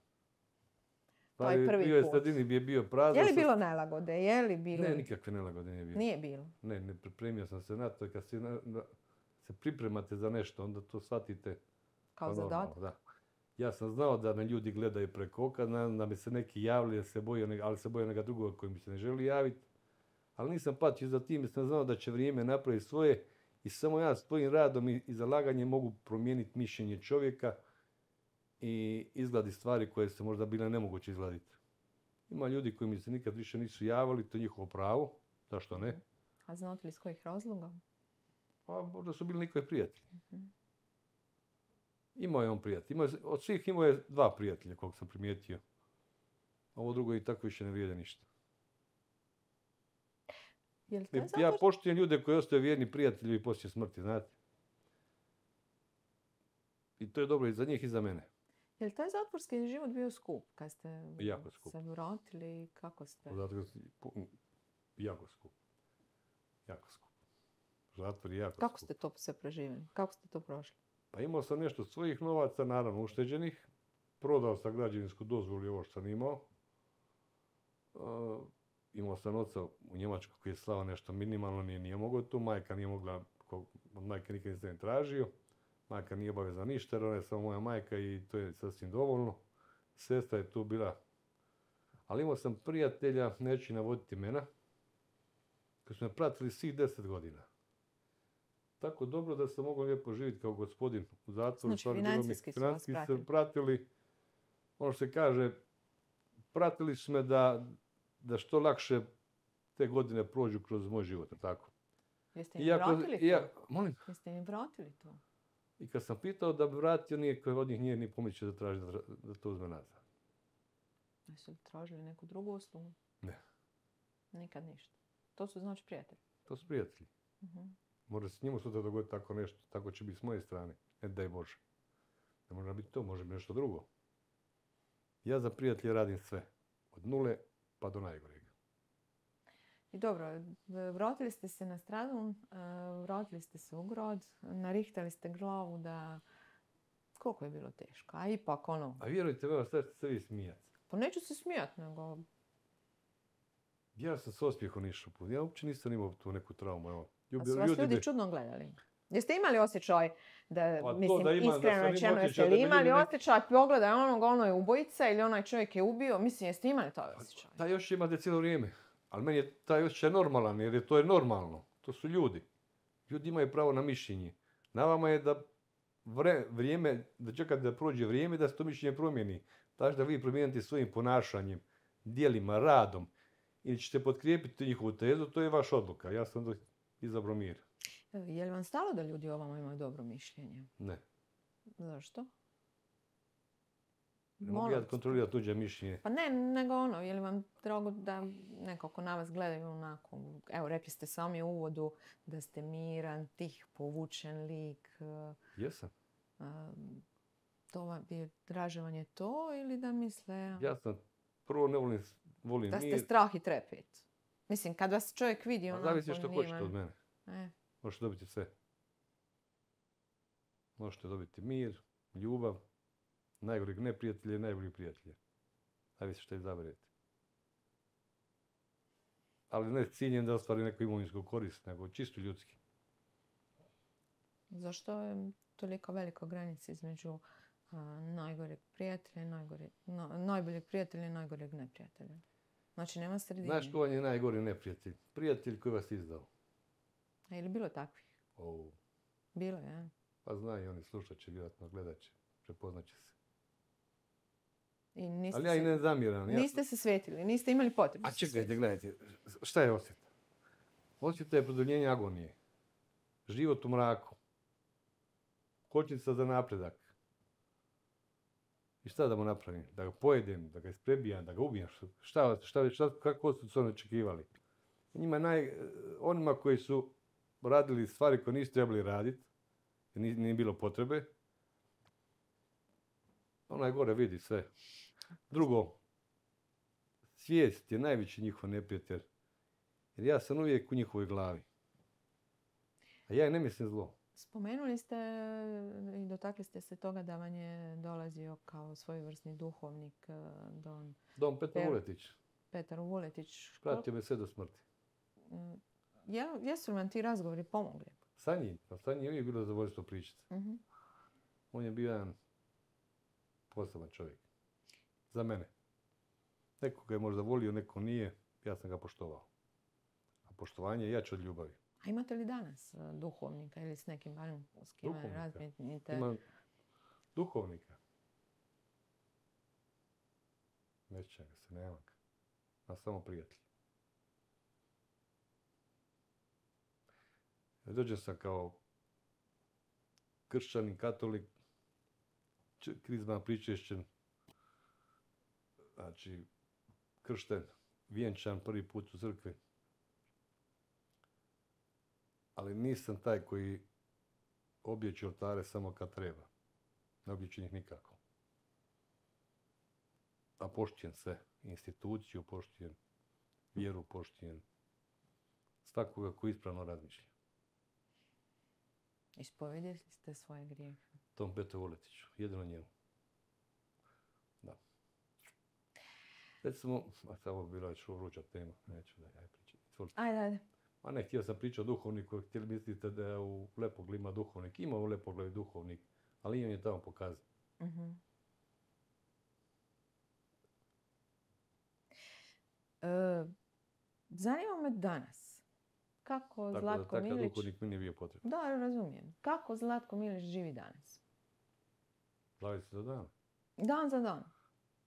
To je prvi bio je put. Stradini je bio prazan. Je li sa- bilo nelagode? Je li bilo... Ne, nikakve nelagode nije bilo. Nije bilo. Ne, ne pripremio sam se na to. Kad se, na- na- se pripremate za nešto, onda to shvatite Kao kao normalno, zadatak. da. Ja sam znao da me ljudi gledaju preko oka, da, da mi se neki javili, da se boje, ali se boje neka drugoga koji mi se ne želi javiti. Ali nisam patio za tim, jer sam znao da će vrijeme napraviti svoje i samo ja svojim radom i, i zalaganjem mogu promijeniti mišljenje čovjeka i izgladiti stvari koje se možda bile nemoguće izgladiti. Ima ljudi koji mi se nikad više nisu javili, to je njihovo pravo, zašto ne? A znate li iz kojih razloga? Pa možda su bili njihovi prijatelji. Mhm. Imao je on prijatelj. Imao je, od svih imao je dva prijatelja, koliko sam primijetio. Ovo drugo i tako više ne vrijede ništa. Je li taj Ja zatvor... poštujem ljude koji ostaju vjerni prijatelji i poslije smrti, znate. I to je dobro i za njih i za mene. Je li taj zatvorski život bio skup kad ste Jako skup. se vratili? Kako ste? Zato što pu- jako skup. Jako skup. Zatvor je jako Kako skup. ste to sve preživjeli? Kako ste to prošli? Pa imao sam nešto svojih novaca, naravno ušteđenih. Prodao sam građevinsku dozvolu i ovo što sam imao. Uh, imao sam oca u Njemačkoj koji je slao nešto minimalno, nije, nije mogao tu. Majka nije mogla, ko- od majke nikad nisam tražio. Majka nije obavezna ništa, jer ona je samo moja majka i to je sasvim dovoljno. Sestra je tu bila. Ali imao sam prijatelja, neću navoditi imena, koji su me pratili svih deset godina. Tako dobro da sam mogao lijepo živjeti kao gospodin u zatvoru. Znači, stvarno bilo mi- financijski su vas financijski pratili. su pratili. Ono što se kaže, pratili su me da, da što lakše te godine prođu kroz moj život, jel tako? Jeste im Iako- vratili to? ja- molim, Jeste im vratili to? i kad sam pitao da bi vratio, nije od njih nije ni pomislio da traži da, da to uzme nazad. Jesu li tražili neku drugu uslugu? Ne. Nikad ništa. To su znači prijatelji. To su prijatelji. Mhm. Može se njemu sutra dogoditi tako nešto, tako će biti s moje strane. Ne daj Bože. Ne može biti to, može biti nešto drugo. Ja za prijatelje radim sve. Od nule pa do najgoreg. I dobro, vratili ste se na Stradun, e, vratili ste se u grad, narihtali ste glavu da... Koliko je bilo teško? A ipak ono, A vjerujte, evo, sad ćete se vi smijati. pa neću se smijat, nego... Ja sam s osmijehom išao put. Ja uopće nisam imao tu neku traumu. Evo. A Ljubi- su vas ljudi me- čudno gledali? Jeste imali osjećaj da, Pa to mislim, da imam, da iskreno sam imao rečeno, osjećaj jeste da li bi imali ljudi nek- osjećaj pogledaj onog, ono je ubojica ili onaj čovjek je ubio? Mislim, jeste imali taj osjećaj? Taj osjećaj imate cijelo vrijeme. Ali meni je taj osjećaj normalan, jer je to je normalno. To su ljudi. Ljudi imaju pravo na mišljenje. Na vama je da vre- vrijeme, da čekate da prođe vrijeme da se to mišljenje promijeni. Znači da vi promijenite svojim ponašanjem. djelima, radom, ili ćete potkrijepiti njihovu tezu, to je vaša odluka. Ja sam onda izabrao mir. Je li vam stalo da ljudi o vama imaju dobro mišljenje? Ne. Zašto? Ne mogu ja kontrolirati tuđe mišljenje. Pa ne, nego ono, je li vam drago da neko ko na vas gledaju onako, evo, rekli ste sami u uvodu da ste miran, tih, povučen lik. Jesam. To vam je dražavanje to ili da misle... Ja sam, prvo ne volim, volim da ste mir. strah i trepet. Mislim, kad vas čovjek vidi onako... Zavisi što hoćete od mene. E. Možete dobiti sve. Možete dobiti mir, ljubav, najgoreg neprijatelja i najboljeg prijatelja. Zavisi što izaberete. Ali ne s ciljem da ostvari neku imovinsku korist, nego čisto ljudski. Zašto je toliko velika granica između a, najgoreg prijatelja i najgore, no, najboljeg prijatelja i najgoreg neprijatelja? Znači, nema sredine. Znaš ko vam je najgori neprijatelj? Prijatelj koji vas izdao. A je li bilo takvih? Oh. Bilo je, ja. Pa znaju, oni slušat će, vjerojatno gledat će, prepoznat će se. I niste ali ja i ne zamiram. Niste ja... se svetili, niste imali potrebu. A čekajte, gledajte, šta je osjeta? Osjeta je produljenje agonije. Život u mraku. Kočnica za napredak. I šta da mu napravim? Da ga pojedem, da ga isprebijam, da ga ubijem? Šta, šta, šta, kako su se oni očekivali? Njima naj, onima koji su radili stvari koje nisu trebali raditi, nije, nije bilo potrebe, onaj gore vidi sve. Drugo, svijest je najveći njihov neprijatelj. Jer ja sam uvijek u njihovoj glavi. A ja ne mislim zlo. Spomenuli ste i dotakli ste se toga da vam je dolazio kao svojevrsni duhovnik Don... Don Petar Vuletić. Petar Vuletić. Pratio me sve do smrti. Ja, jesu li vam ti razgovori pomogli? Sa njim. Pa sa njim je uvijek bilo zadovoljstvo pričati. Uh-huh. On je bio jedan poseban čovjek. Za mene. Neko ga je možda volio, neko nije. Ja sam ga poštovao. A poštovanje je jače od ljubavi. A imate li danas duhovnika ili s nekim barem s kime razmijenite? Imam duhovnika. Ne sjećam ga se, nema ga. A samo prijatelj. Dođem sam kao kršćanin, katolik, krizma pričešćen, znači kršten, vjenčan prvi put u crkvi. Ali nisam taj koji objeći oltare samo kad treba. Ne objeći njih nikako. A poštijem sve. Instituciju poštijem, vjeru poštijem. Svakoga koji ispravno razmišlja. Ispovedili ste svoje grijehe? Tom Petru Vuletiću. Jedino njemu. Da. Recimo, a ovo bila je što vruća tema. Neću da ja pričam. Ajde, ajde. Ma ne, htio sam pričati o duhovniku, htjeli mislite da je u Lepogli ima duhovnik. Ima u Lepogli duhovnik, ali on je tamo pokazan. Uh-huh. E, zanima me danas. Kako tako Zlatko da, Milić... Tako da duhovnik mi nije bio potreban. Da, razumijem. Kako Zlatko Milić živi danas? Slavi se za dan. Dan za dan.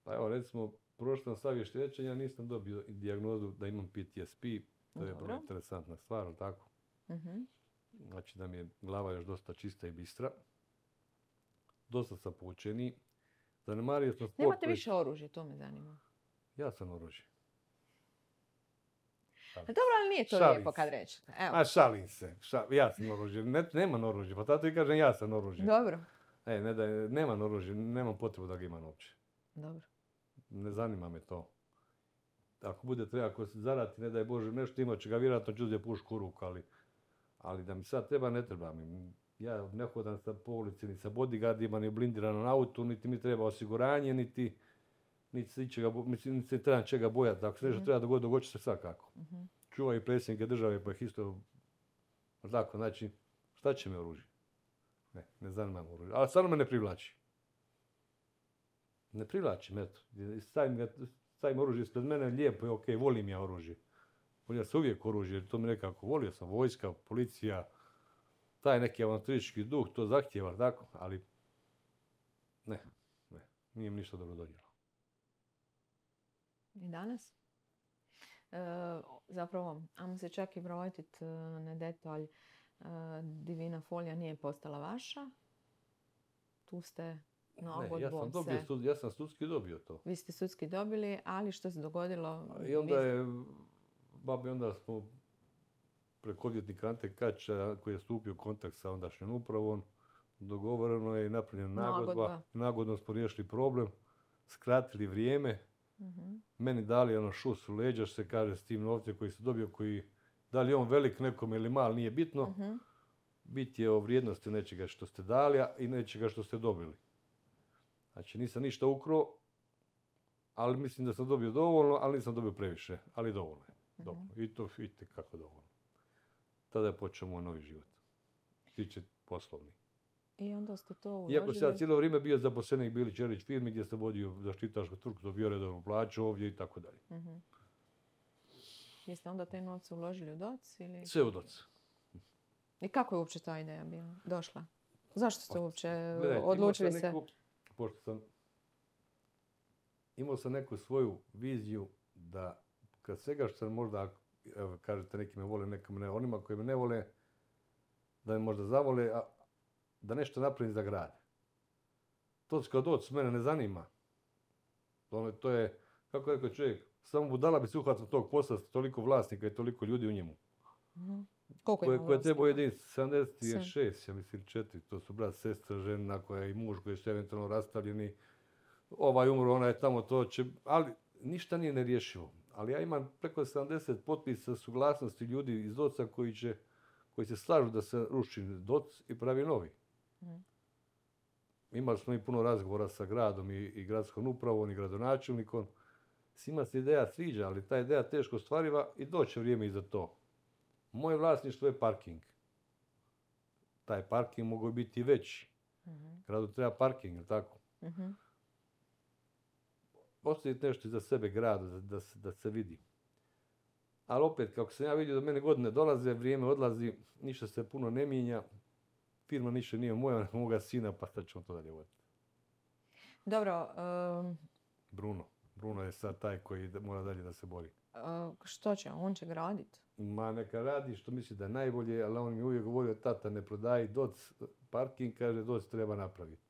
Pa evo, recimo, prošlo sam sva vještačenja, nisam dobio dijagnozu da imam P T S P. To je vrlo interesantna stvar, ali tako? Uh-huh. Znači da mi je glava još dosta čista i bistra. Dosta sam poučeniji. Zanemario sam sport... Nemate više oružje, to me zanima. Ja sam oružje. Dobro, ali nije to šalim lijepo kad rećete. Evo. A šalim se. Šal... Ja sam oružje. Ne, nemam oružje, pa tato i kažem ja sam oružje. Dobro. E, ne da, nemam oružje, nemam potrebu da ga imam uopće. Dobro. Ne zanima me to. Ako bude treba, ako se zarati, ne daj Bože, nešto ima će ga, vjerojatno ću uzeti pušku u ruku, ali, ali da mi sad treba, ne treba mi. Ja ne hodam sa po ulici, ni sa bodyguardima, ni blindiranom autu, niti mi treba osiguranje, niti, niti se čega, mislim, niti se treba čega bojati. Ako se nešto mm-hmm. treba dogoditi, dogodit će se svakako. Mm-hmm. Čuvaju predsjednike države, pa ih isto, tako, znači, šta će mi oružje? Ne, ne zanima me oružje, ali stvarno me ne privlači. Ne privlačim, eto, stavim ga, stavim oružje ispred mene, lijepo je, ok, volim ja oružje. Volim se uvijek oružje, jer to mi nekako, volio sam vojska, policija, taj neki avanturistički duh, to zahtijeva, tako, ali ne, ne, nije mi ništa dobro donijelo. I danas? E, zapravo, ajmo se čak i vratiti na detalj. E, Divina folija nije postala vaša. Tu ste Ne, ja sam, nagodbom dobio, se... sud- ja sam sudski dobio to. Vi ste sudski dobili, ali što se dogodilo? I onda Vi- je, babi, onda smo preko odvjetnika Ante Kača, koji je stupio u kontakt sa ondašnjom upravom, dogovoreno je i napravljena nagodba. Nagodba. Nagodno smo riješili problem, skratili vrijeme, Mhm. meni dali ono šus u leđa, što se kaže, s tim novcem koji se dobio, koji, da li je on velik nekom ili mal, nije bitno. Mhm. Bit je o vrijednosti nečega što ste dali a i nečega što ste dobili. Znači, nisam ništa ukrao, ali mislim da sam dobio dovoljno, ali nisam dobio previše, ali dovoljno je. Dovoljno. I to vidite kako dovoljno. Tada je počeo moj novi život. Tiče poslovni. I onda ste to uložili? Iako sam ja cijelo vrijeme bio zaposlenik Bilić Čelić firmi gdje sam vodio zaštitarsku tvrtku, dobio redovnu plaću ovdje i tako dalje. Mhm. Jeste onda te novce uložili u doc? Ili... Sve u doc. I kako je uopće ta ideja bila došla? Zašto ste uopće Gledajte, imao odlučili sam se? neku- pošto sam imao sam neku svoju viziju da kad svega što sam možda, evo kažete neki me vole, neki me ne, onima koji me ne vole, da me možda zavole, a da nešto napravim za grad. To kao doc mene ne zanima. To, to je, kako je rekao čovjek, samo budala bi se uhvatila tog posla, s toliko vlasnika i toliko ljudi u njemu. Mhm. Koliko Koje, ima koje trebao vlasnika? jedinice, sedamdeset šest, ja mislim četiri, to su brat, sestra, žena koja i muž koji su eventualno rastavljeni, ovaj umro, ona je tamo, to će, ali ništa nije nerješivo. Ali ja imam preko sedamdeset potpisa suglasnosti ljudi iz doca koji će, koji se slažu da se ruši doc i pravi novi. Mhm. Imali smo i puno razgovora sa gradom i, i gradskom upravom i gradonačelnikom. Svima se ideja sviđa, ali ta ideja teško ostvariva i doće vrijeme i za to. Moje vlasništvo je parking. Taj parking mogu biti i veći. Mhm. Gradu treba parking, jel tako? Mhm. Ostaviti nešto iza sebe gradu, da, da, se, da se vidi. Ali opet, kako sam ja vidio da mene godine dolaze, vrijeme odlazi, ništa se puno ne mijenja. Firma ništa nije moja, nego moga sina, pa sad ćemo to dalje voditi. Dobro, um, Bruno. Bruno je sad taj koji da- mora dalje da se bori. uh, što će? On će graditi? Ma neka radi što misli da je najbolje, ali on mi je uvijek govorio, tata ne prodaji doc, parking, kaže doc treba napraviti.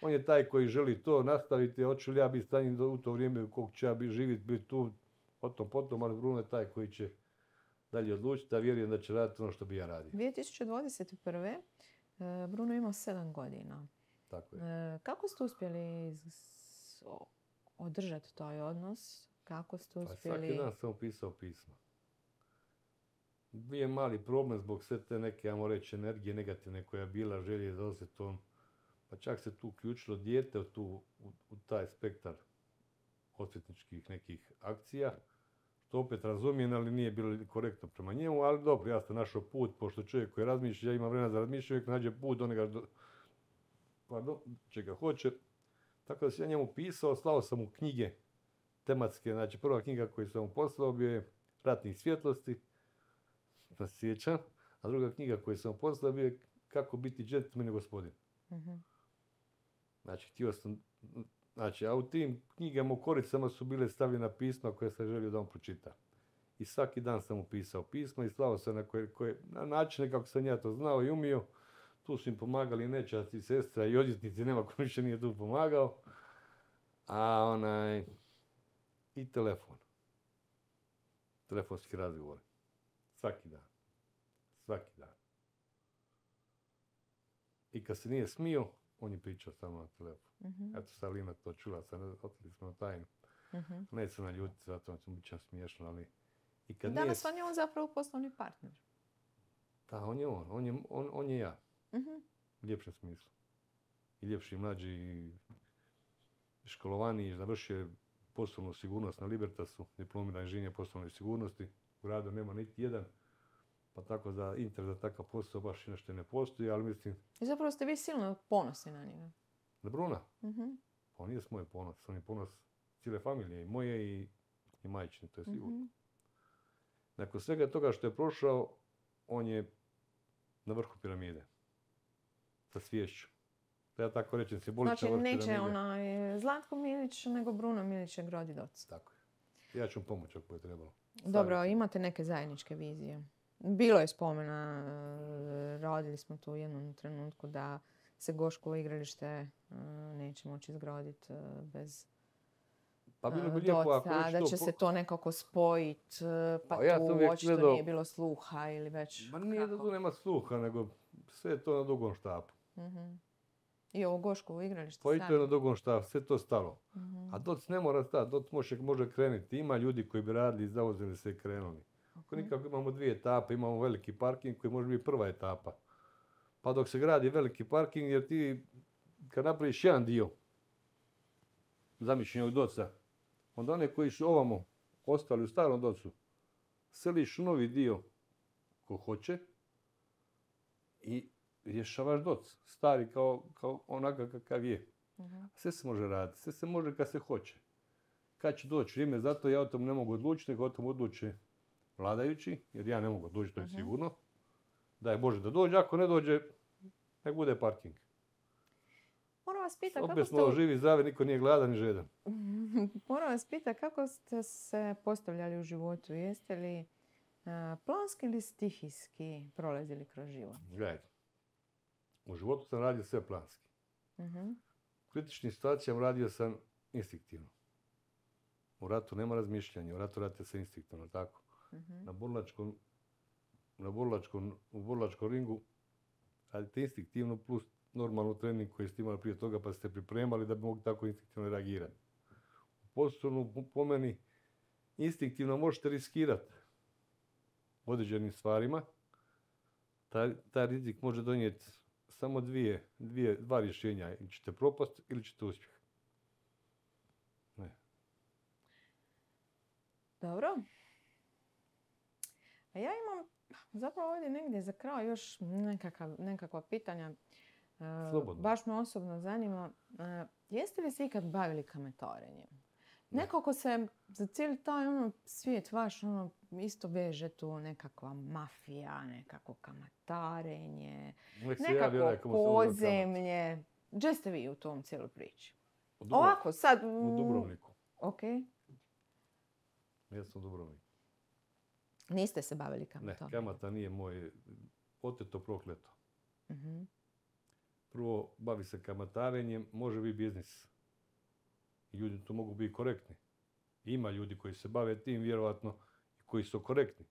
On je taj koji želi to nastaviti, hoću li ja biti stanjen do- u to vrijeme koliko ću ja biti živjeti, biti tu, potom, potom, ali Bruno je taj koji će dalje odlučiti, a vjerujem da će raditi ono što bi ja radio. dvije tisuće dvadeset prve. uh, Bruno ima sedam godina. Tako je. Uh, kako ste uspjeli s- o- održati taj odnos? Kako ste Pa svaki uspjeli... dan sam pisao pisma. Bio je mali problem zbog sve te neke, ajmo reći, energije negativne koja je bila, želje za osvetom. Pa čak se tu uključilo dijete u, tu, u, u taj spektar osvetničkih nekih akcija. Što opet razumijem, ali nije bilo korektno prema njemu, ali dobro, ja sam našao put, pošto čovjek koji razmišlja, ja imam vremena za razmišljanje, uvijek nađe put, on ga, do, pardon, čega hoće. Tako da sam ja njemu pisao, slao sam mu knjige tematske, znači prva knjiga koju sam mu poslao bio je Ratnih svjetlosti, da se sjećam, a druga knjiga koju sam mu poslao bio je Kako biti džentlmen i gospodin. Mhm. Znači, htio sam, znači, a u tim knjigama u koricama su bile stavljena pisma koje sam želio da on pročita. I svaki dan sam mu pisao pisma i slao sam na, koje, koje, na načine kako sam ja to znao i umio. Tu su im pomagali i nećaci, sestra i odvjetnici, nema ko više nije tu pomagao. A onaj, i telefon. Telefonski razgovor. Svaki dan. Svaki dan. I kad se nije smio, on je pričao samo na telefon. Mhm. Eto, sad Lina to čula, sad otkrili smo tajnu. Mhm. Ne se naljutiti, zato će biti čas smiješno, ali... I kad Danas nije... vam je on zapravo poslovni partner. Da, on je on, on je, on, on je ja. Mhm. U ljepšem smislu. I ljepši, i mlađi, i školovaniji, završio je poslovnu sigurnost na Libertasu, diplomira inženjer poslovne sigurnosti. U gradu nema niti jedan, pa tako za interes za takav posao baš i nešto ne postoji, ali mislim, I zapravo ste vi silno ponosni na njega. da Bruna, Mhm. pa on nije moj ponos, on je ponos cijele familije, i moje i, i majčine, to je sigurno. Mhm. Nakon svega toga što je prošao, on je na vrhu piramide. Sa sviješću. Da ja tako rečem, simbolična Znači, vrh neće piramide. onaj Zlatko Milić, nego Bruno Milić je gradi doc. Tako je. Ja ću vam pomoći ako je trebalo. Dobro, Savjet. imate neke zajedničke vizije. Bilo je spomena, e, radili smo tu u jednom trenutku da se Goškovo igralište e, neće moći izgraditi e, bez Pa bilo bi e, lijepo ako doca, već da to će po- se to nekako spojiti, pa Pa ja sam tu uvijek očito gledao- nije bilo sluha ili već Ma nije da kako. tu nema sluha, nego sve je to na dugom štapu. Mhm. I ovo Goškovo igralište Pa i sad. to je na dugom štapu, sve to stalo. Mhm. A doc ne mora stati, doc može, može krenuti. Ima ljudi koji bi radili, zauzeli se i krenuli. Ako Mhm. nikako imamo dvije etape, imamo veliki parking koji može biti prva etapa. Pa dok se gradi veliki parking, jer ti kad napraviš jedan dio zamišljenog doca, onda one koji su ovamo ostali u starom docu, seliš u novi dio ko hoće i rješavaš doc. Stari kao, kao onakav kakav je. Mhm. Sve se može raditi, sve se može kad se hoće. Kad će doći vrijeme, zato ja o tom ne mogu odlučiti, nego o tom odluče vladajući, jer ja ne mogu odlučiti, to je Mhm. sigurno. Daj Bože da dođe, ako ne dođe, nek bude parking. Moram vas pitati kako Opet ste... smo živi, zdravi, niko nije gladan ni žedan. Moram vas pitati kako ste se postavljali u životu. Jeste li a, planski ili stihijski prolazili kroz život? Gledajte, u životu sam radio sve planski. Mhm. U kritičnim situacijama radio sam instinktivno. U ratu nema razmišljanja, u ratu radite se instinktivno, tako? Mhm. Na burlačkom, na burlačkom, u burlačkom ringu radite instinktivno plus normalnu trening koji ste imali prije toga pa ste pripremali da bi mogli tako instinktivno reagirati. U poslovnu, po- po meni, instinktivno možete riskirati određenim stvarima. Taj, taj rizik može donijeti samo dvije, dvije, dva rješenja. Ili ćete propast ili ćete uspjeh. Ne. Dobro. A ja imam zapravo ovdje negdje za kraj još nekakav, nekakva pitanja. E, Slobodno. baš me osobno zanima. E, jeste li se ikad bavili kamatarenjem? Ne. Nekako se za cijeli taj ono, svijet vaš ono, isto veže tu nekakva mafija, nekako kamatarenje, Nek se javi onaj nekako komu se uzeo kamat. podzemlje. Gdje ste vi u tom cijeloj priči? U Dubrovniku. Ovako, sad... U Dubrovniku. Ok. Ja sam u Dubrovniku. Niste se bavili Ne, kamatarenjem? kamata nije moj oteto prokleto. Mhm. Prvo, bavi se kamatarenjem, može biti biznis. Ljudi tu mogu biti korektni. Ima ljudi koji se bave tim, vjerovatno, i koji su korektni.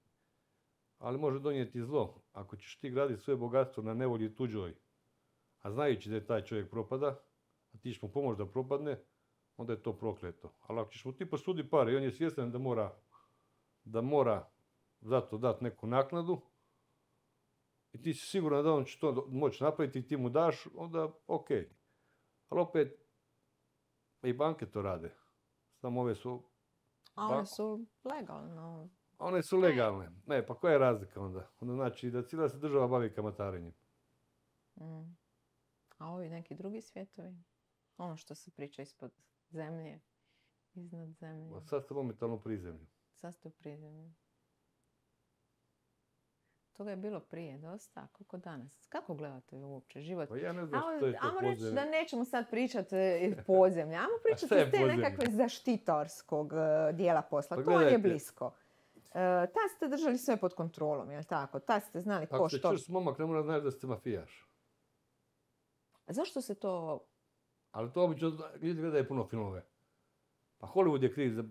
Ali može donijeti zlo. Ako ćeš ti graditi svoje bogatstvo na nevolji tuđoj, a znajući da je taj čovjek propada, a ti ćeš mu pomoći da propadne, onda je to prokleto. Ali ako ćeš mu ti posudi pare i on je svjestan da mora, da mora zato dati neku naknadu, i ti si siguran da on će to moći napraviti i ti mu daš, onda ok. Ali opet, i banke to rade. Samo ove su, A one Ba- su legalno. one su legalne. Ne, pa koja je razlika onda? Onda znači da cijela se država bavi kamatarenjem. Mm. A ovi neki drugi svjetovi? Ono što se priča ispod zemlje, iznad zemlje. Ma sad ste momentalno u prizemlju. Sad ste u prizemlju. Toga je bilo prije dosta, koliko danas? Kako gledate uopće život? Pa ja ne znam Ajmo, što je to ajmo reći podzemlje. da nećemo sad pričati e, podzemlje. Ajmo pričati šta je iz te podzemlje? nekakve zaštitarskog e, dijela posla. Pa to vam je gledajte. blisko. E, tad ste držali sve pod kontrolom, jel tako? Tad ste znali ko Ako ste što. čvrst momak, ne mora znaš da ste mafijaš. A zašto se to... Ali to obično ljudi gledaju puno filmove. Pa Hollywood je kriv za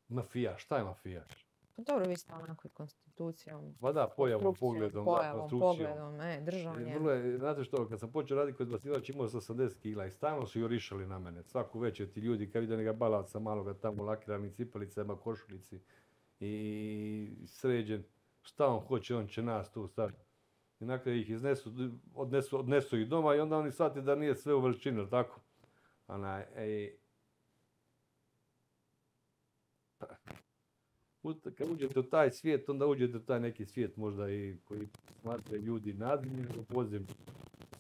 mafijaš. Šta je mafijaš? Pa dobro, vi ste onako i konstitucijom, Pa da, pojavom, konstrukcijom, pogledom, da, pojavom, konstrukcijom. pogledom, e, I držanjem. vrlo je, znate što, kad sam počeo raditi kod Basilač imao sam osamdeset kila i stalno su jurišali na mene. Svaku večer ti ljudi kad vide neka balavca maloga tamo u lakiranim cipelicama, košulici i sređen. Šta on hoće, on će nas tu staviti. I na kraju ih iznesu, odnesu, odnesu ih doma i onda oni shvate da nije sve u veličini, jel tako? Onaj, ej, Ut- kad uđete u taj svijet, onda uđete u taj neki svijet možda i koji smatraju ljudi nadzemljem u podzemlju.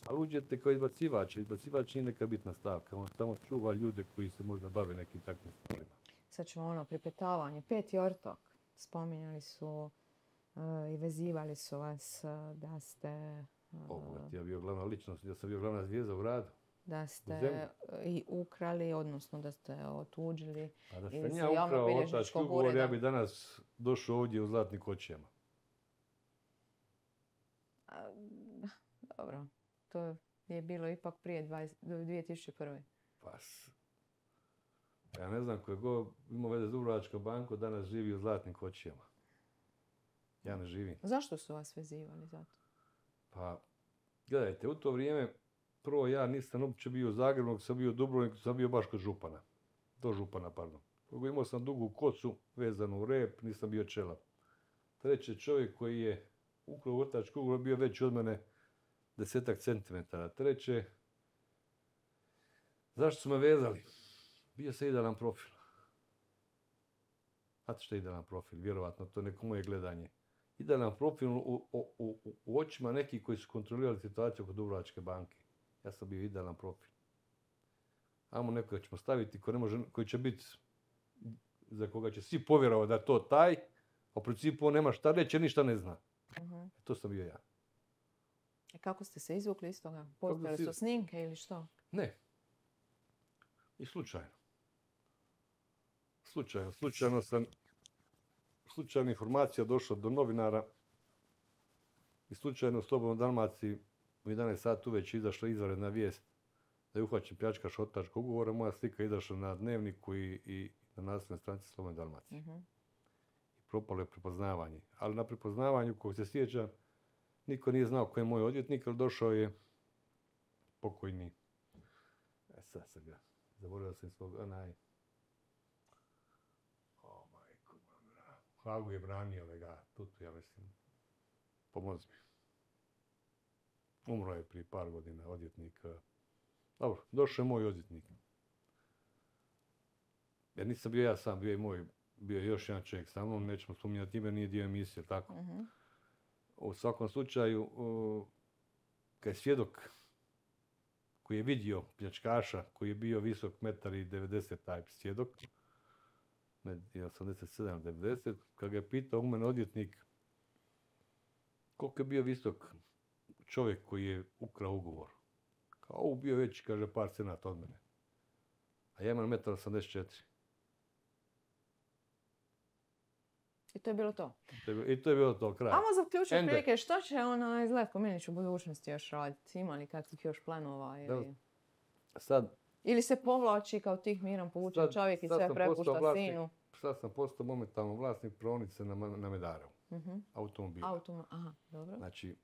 Ali uđete kao izbacivač. Izbacivač nije neka bitna stavka. On samo čuva ljude koji se možda bave nekim takvim stvarima. Sad ćemo ono, pripetavanje. Peti ortok. Spominjali su e, i vezivali su vas e, da ste... e, Ovo, ja bio glavna ličnost, ja sam bio glavna zvijezda u radu. da ste Zemlju. i ukrali, odnosno da ste otuđili A da iz sam ja ukrao otački javnobilježničkog ugovor, ja ureda. bi danas došao ovdje u zlatnim kočijama. A, Dobro, to je bilo ipak prije dvadeset dvije tisuće prve. Pa, s- ja ne znam, ko je god imao veze s Dubrovačkom bankom, danas živi u zlatnim kočijama. Ja ne živim. Zašto su vas vezivali za to? Pa, gledajte, u to vrijeme, prvo ja nisam uopće bio u Zagrebu, nego sam bio u Dubrovniku, sam bio baš kod župana. Do župana, pardon. Drugo, imao sam dugu kosu vezanu u rep, nisam bio čelav. Treći čovjek koji je ukrao otački ugovor bio veći od mene desetak centimetara. Treće, zašto su me vezali? Bio sam idealan profil. Znate što je idealan profil? Vjerovatno, to je neko moje gledanje. Idealan profil u, u, u, u očima nekih koji su kontrolirali situaciju kod Dubrovačke banke. Ja sam bio idealan profil. Amo nekoga ćemo staviti koji, ne može, koji će biti, za koga će svi povjerovati da je to taj, a u principu on nema šta reći, ništa ne zna. Uh-huh. To sam bio ja. I kako ste se izvukli iz toga? Postojale si- su snimke ili što? Ne. I slučajno. Slučajno. Slučajno sam, slučajna informacija došla do novinara i slučajno u Slobodnoj Dalmaciji u jedanaest sati uveć izašla izvanredna vijest da je uhvaćen pljačkaš otačkog ugovora. Moja slika je izašla na Dnevniku i, i na naslovnoj stranici Slobodne Dalmacije. Uh-huh. I propalo je prepoznavanje. Ali na prepoznavanju, kog se sjećam, niko nije znao ko je moj odvjetnik, ali došao je pokojni. E sad sam ga, zaboravio sam svog, onaj, o majko, moja, Hagu je branio ga, Tutu, ja mislim, pomozi mi. Umro je prije par godina odvjetnik. Dobro, došao je moj odvjetnik. Jer nisam bio ja sam, bio je moj, bio je još jedan čovjek sa mnom, nećemo spominjati ime, nije dio emisije, tako. Uh-huh. U svakom slučaju, uh, kad je svjedok koji je vidio pljačkaša, koji je bio visok metar i devedeset taj svjedok, ne, i osamdeset sedam devedeset, kad ga je pitao u mene odvjetnik koliko je bio visok čovjek koji je ukrao ugovor. Kao, ovo bio već, kaže, par cenata od mene. A ja imam metar osamdeset četiri. I to je bilo to. I to je bilo to, kraj. Ajmo zaključiti Ende. prilike, što će onaj Zlatko Milić u budućnosti još raditi? Ima li kakvih još planova? Ili, Da. Sad, ili se povlači kao tih miran povučen Sad- čovjek i sad sve sam prepušta postao vlasnik. sinu? sad sam postao momentalno vlasnik praonice na, Ma- na Medarevu, Uh-huh. automobila. Autom, aha, dobro. Znači,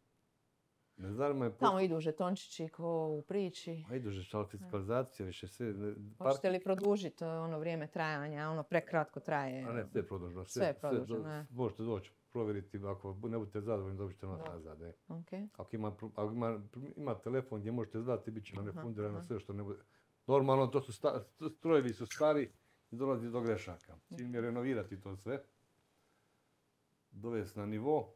ne zanima me... Tamo idu žetončići ko u priči. A idu že, ali fiskalizacija više sve... ne, Hoćete li produžiti ono vrijeme trajanja? Ono prekratko traje. A ne, sve je produženo. Sve je produženo, do- ne. Možete doći provjeriti, ako ne budete zadovoljni, dobit ćete novac Da. nazad. E. Okay. Ako, ima, pro- ako ima, ima telefon gdje možete zvati, bit će vam Aha, refundirano aha. sve što ne bude. Normalno, to su sta, strojevi su stari i dolazi do grešaka. Cilj mi je renovirati to sve, dovesti na nivo,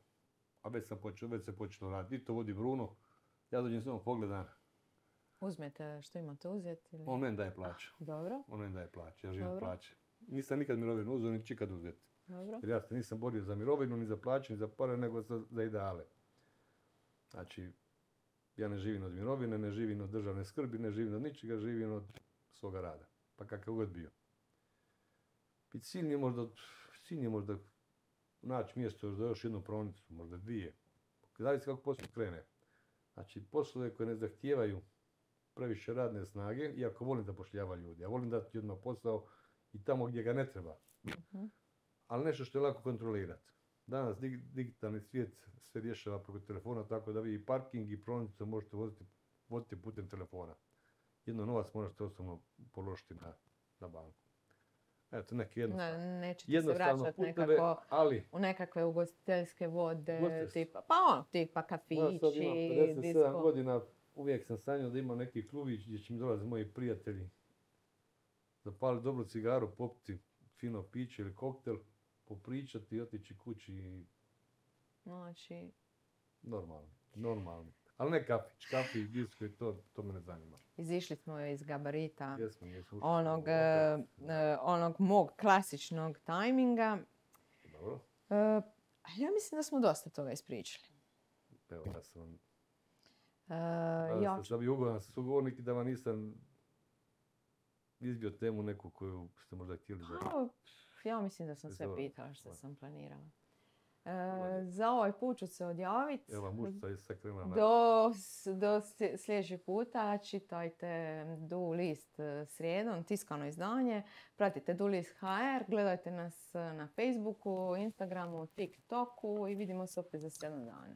a već sam počeo, već se počelo raditi. I to vodi Bruno. Ja dođem samo pogledam, Uzmete što imate uzeti? Ili... on meni daje plaću. Dobro, On meni daje plaću, ja živim od Dobro. plaće. Nisam nikad mirovinu uzeo, ni čikad uzeti. dobro. Jer ja se nisam borio za mirovinu, ni za plaću, ni za pare, nego za, za ideale. Znači, ja ne živim od mirovine, ne živim od državne skrbi, ne živim od ničega, živim od svoga rada. Pa kakav god bio. I cilj je možda, cilj je možda naći mjesto za još jednu praonicu, možda dvije. Zavisi kako posao krene. Znači, poslove koje ne zahtijevaju previše radne snage, iako volim zapošljavati ljudi. Ja volim dati ljudima posao i tamo gdje ga ne treba. Uh-huh. Ali nešto što je lako kontrolirati. Danas dig- digitalni svijet se rješava preko telefona, tako da vi i parking i praonicu možete voziti, voditi putem telefona. Jedno novac možete osobno položiti na, na banku. Eto, neke jednostavne. Ne, nećete se Jednostavno vraćati puteve, nekako ali u nekakve ugostiteljske vode, Ugostiteljske. tipa, pa ono, tipa ja sad kafići, imam pedeset sedam disko. godina, uvijek sam sanjao da imam neki klubić gdje će mi dolaziti moji prijatelji, zapaliti dobru cigaru, popiti fino piće ili koktel, popričati i otići kući i Znači, normalno, normalno. Ali ne kafić, kafić, disko i to, to me ne zanima. izišli smo iz gabarita Jesmo, jesmo. ušli onog, smo u e, lokal. e, onog mog klasičnog tajminga. Dobro, E, a ja mislim da smo dosta toga ispričali. evo ja sam vam... E, ja Da ću- sam bio ugodan sugovornik i da vam nisam izbio temu neku koju ste možda htjeli da... Pa, ja mislim da sam sve Dobro. pitala što sam planirala. E, lijepo. za ovaj put ću se odjaviti. Evo, mušca je sad krenula na... Do, s- do slje- sljedećeg puta čitajte Du list e, srijedom, tiskano izdanje. Pratite Du list ha er, gledajte nas e, na Facebooku, Instagramu, TikToku i vidimo se opet za sedam dana.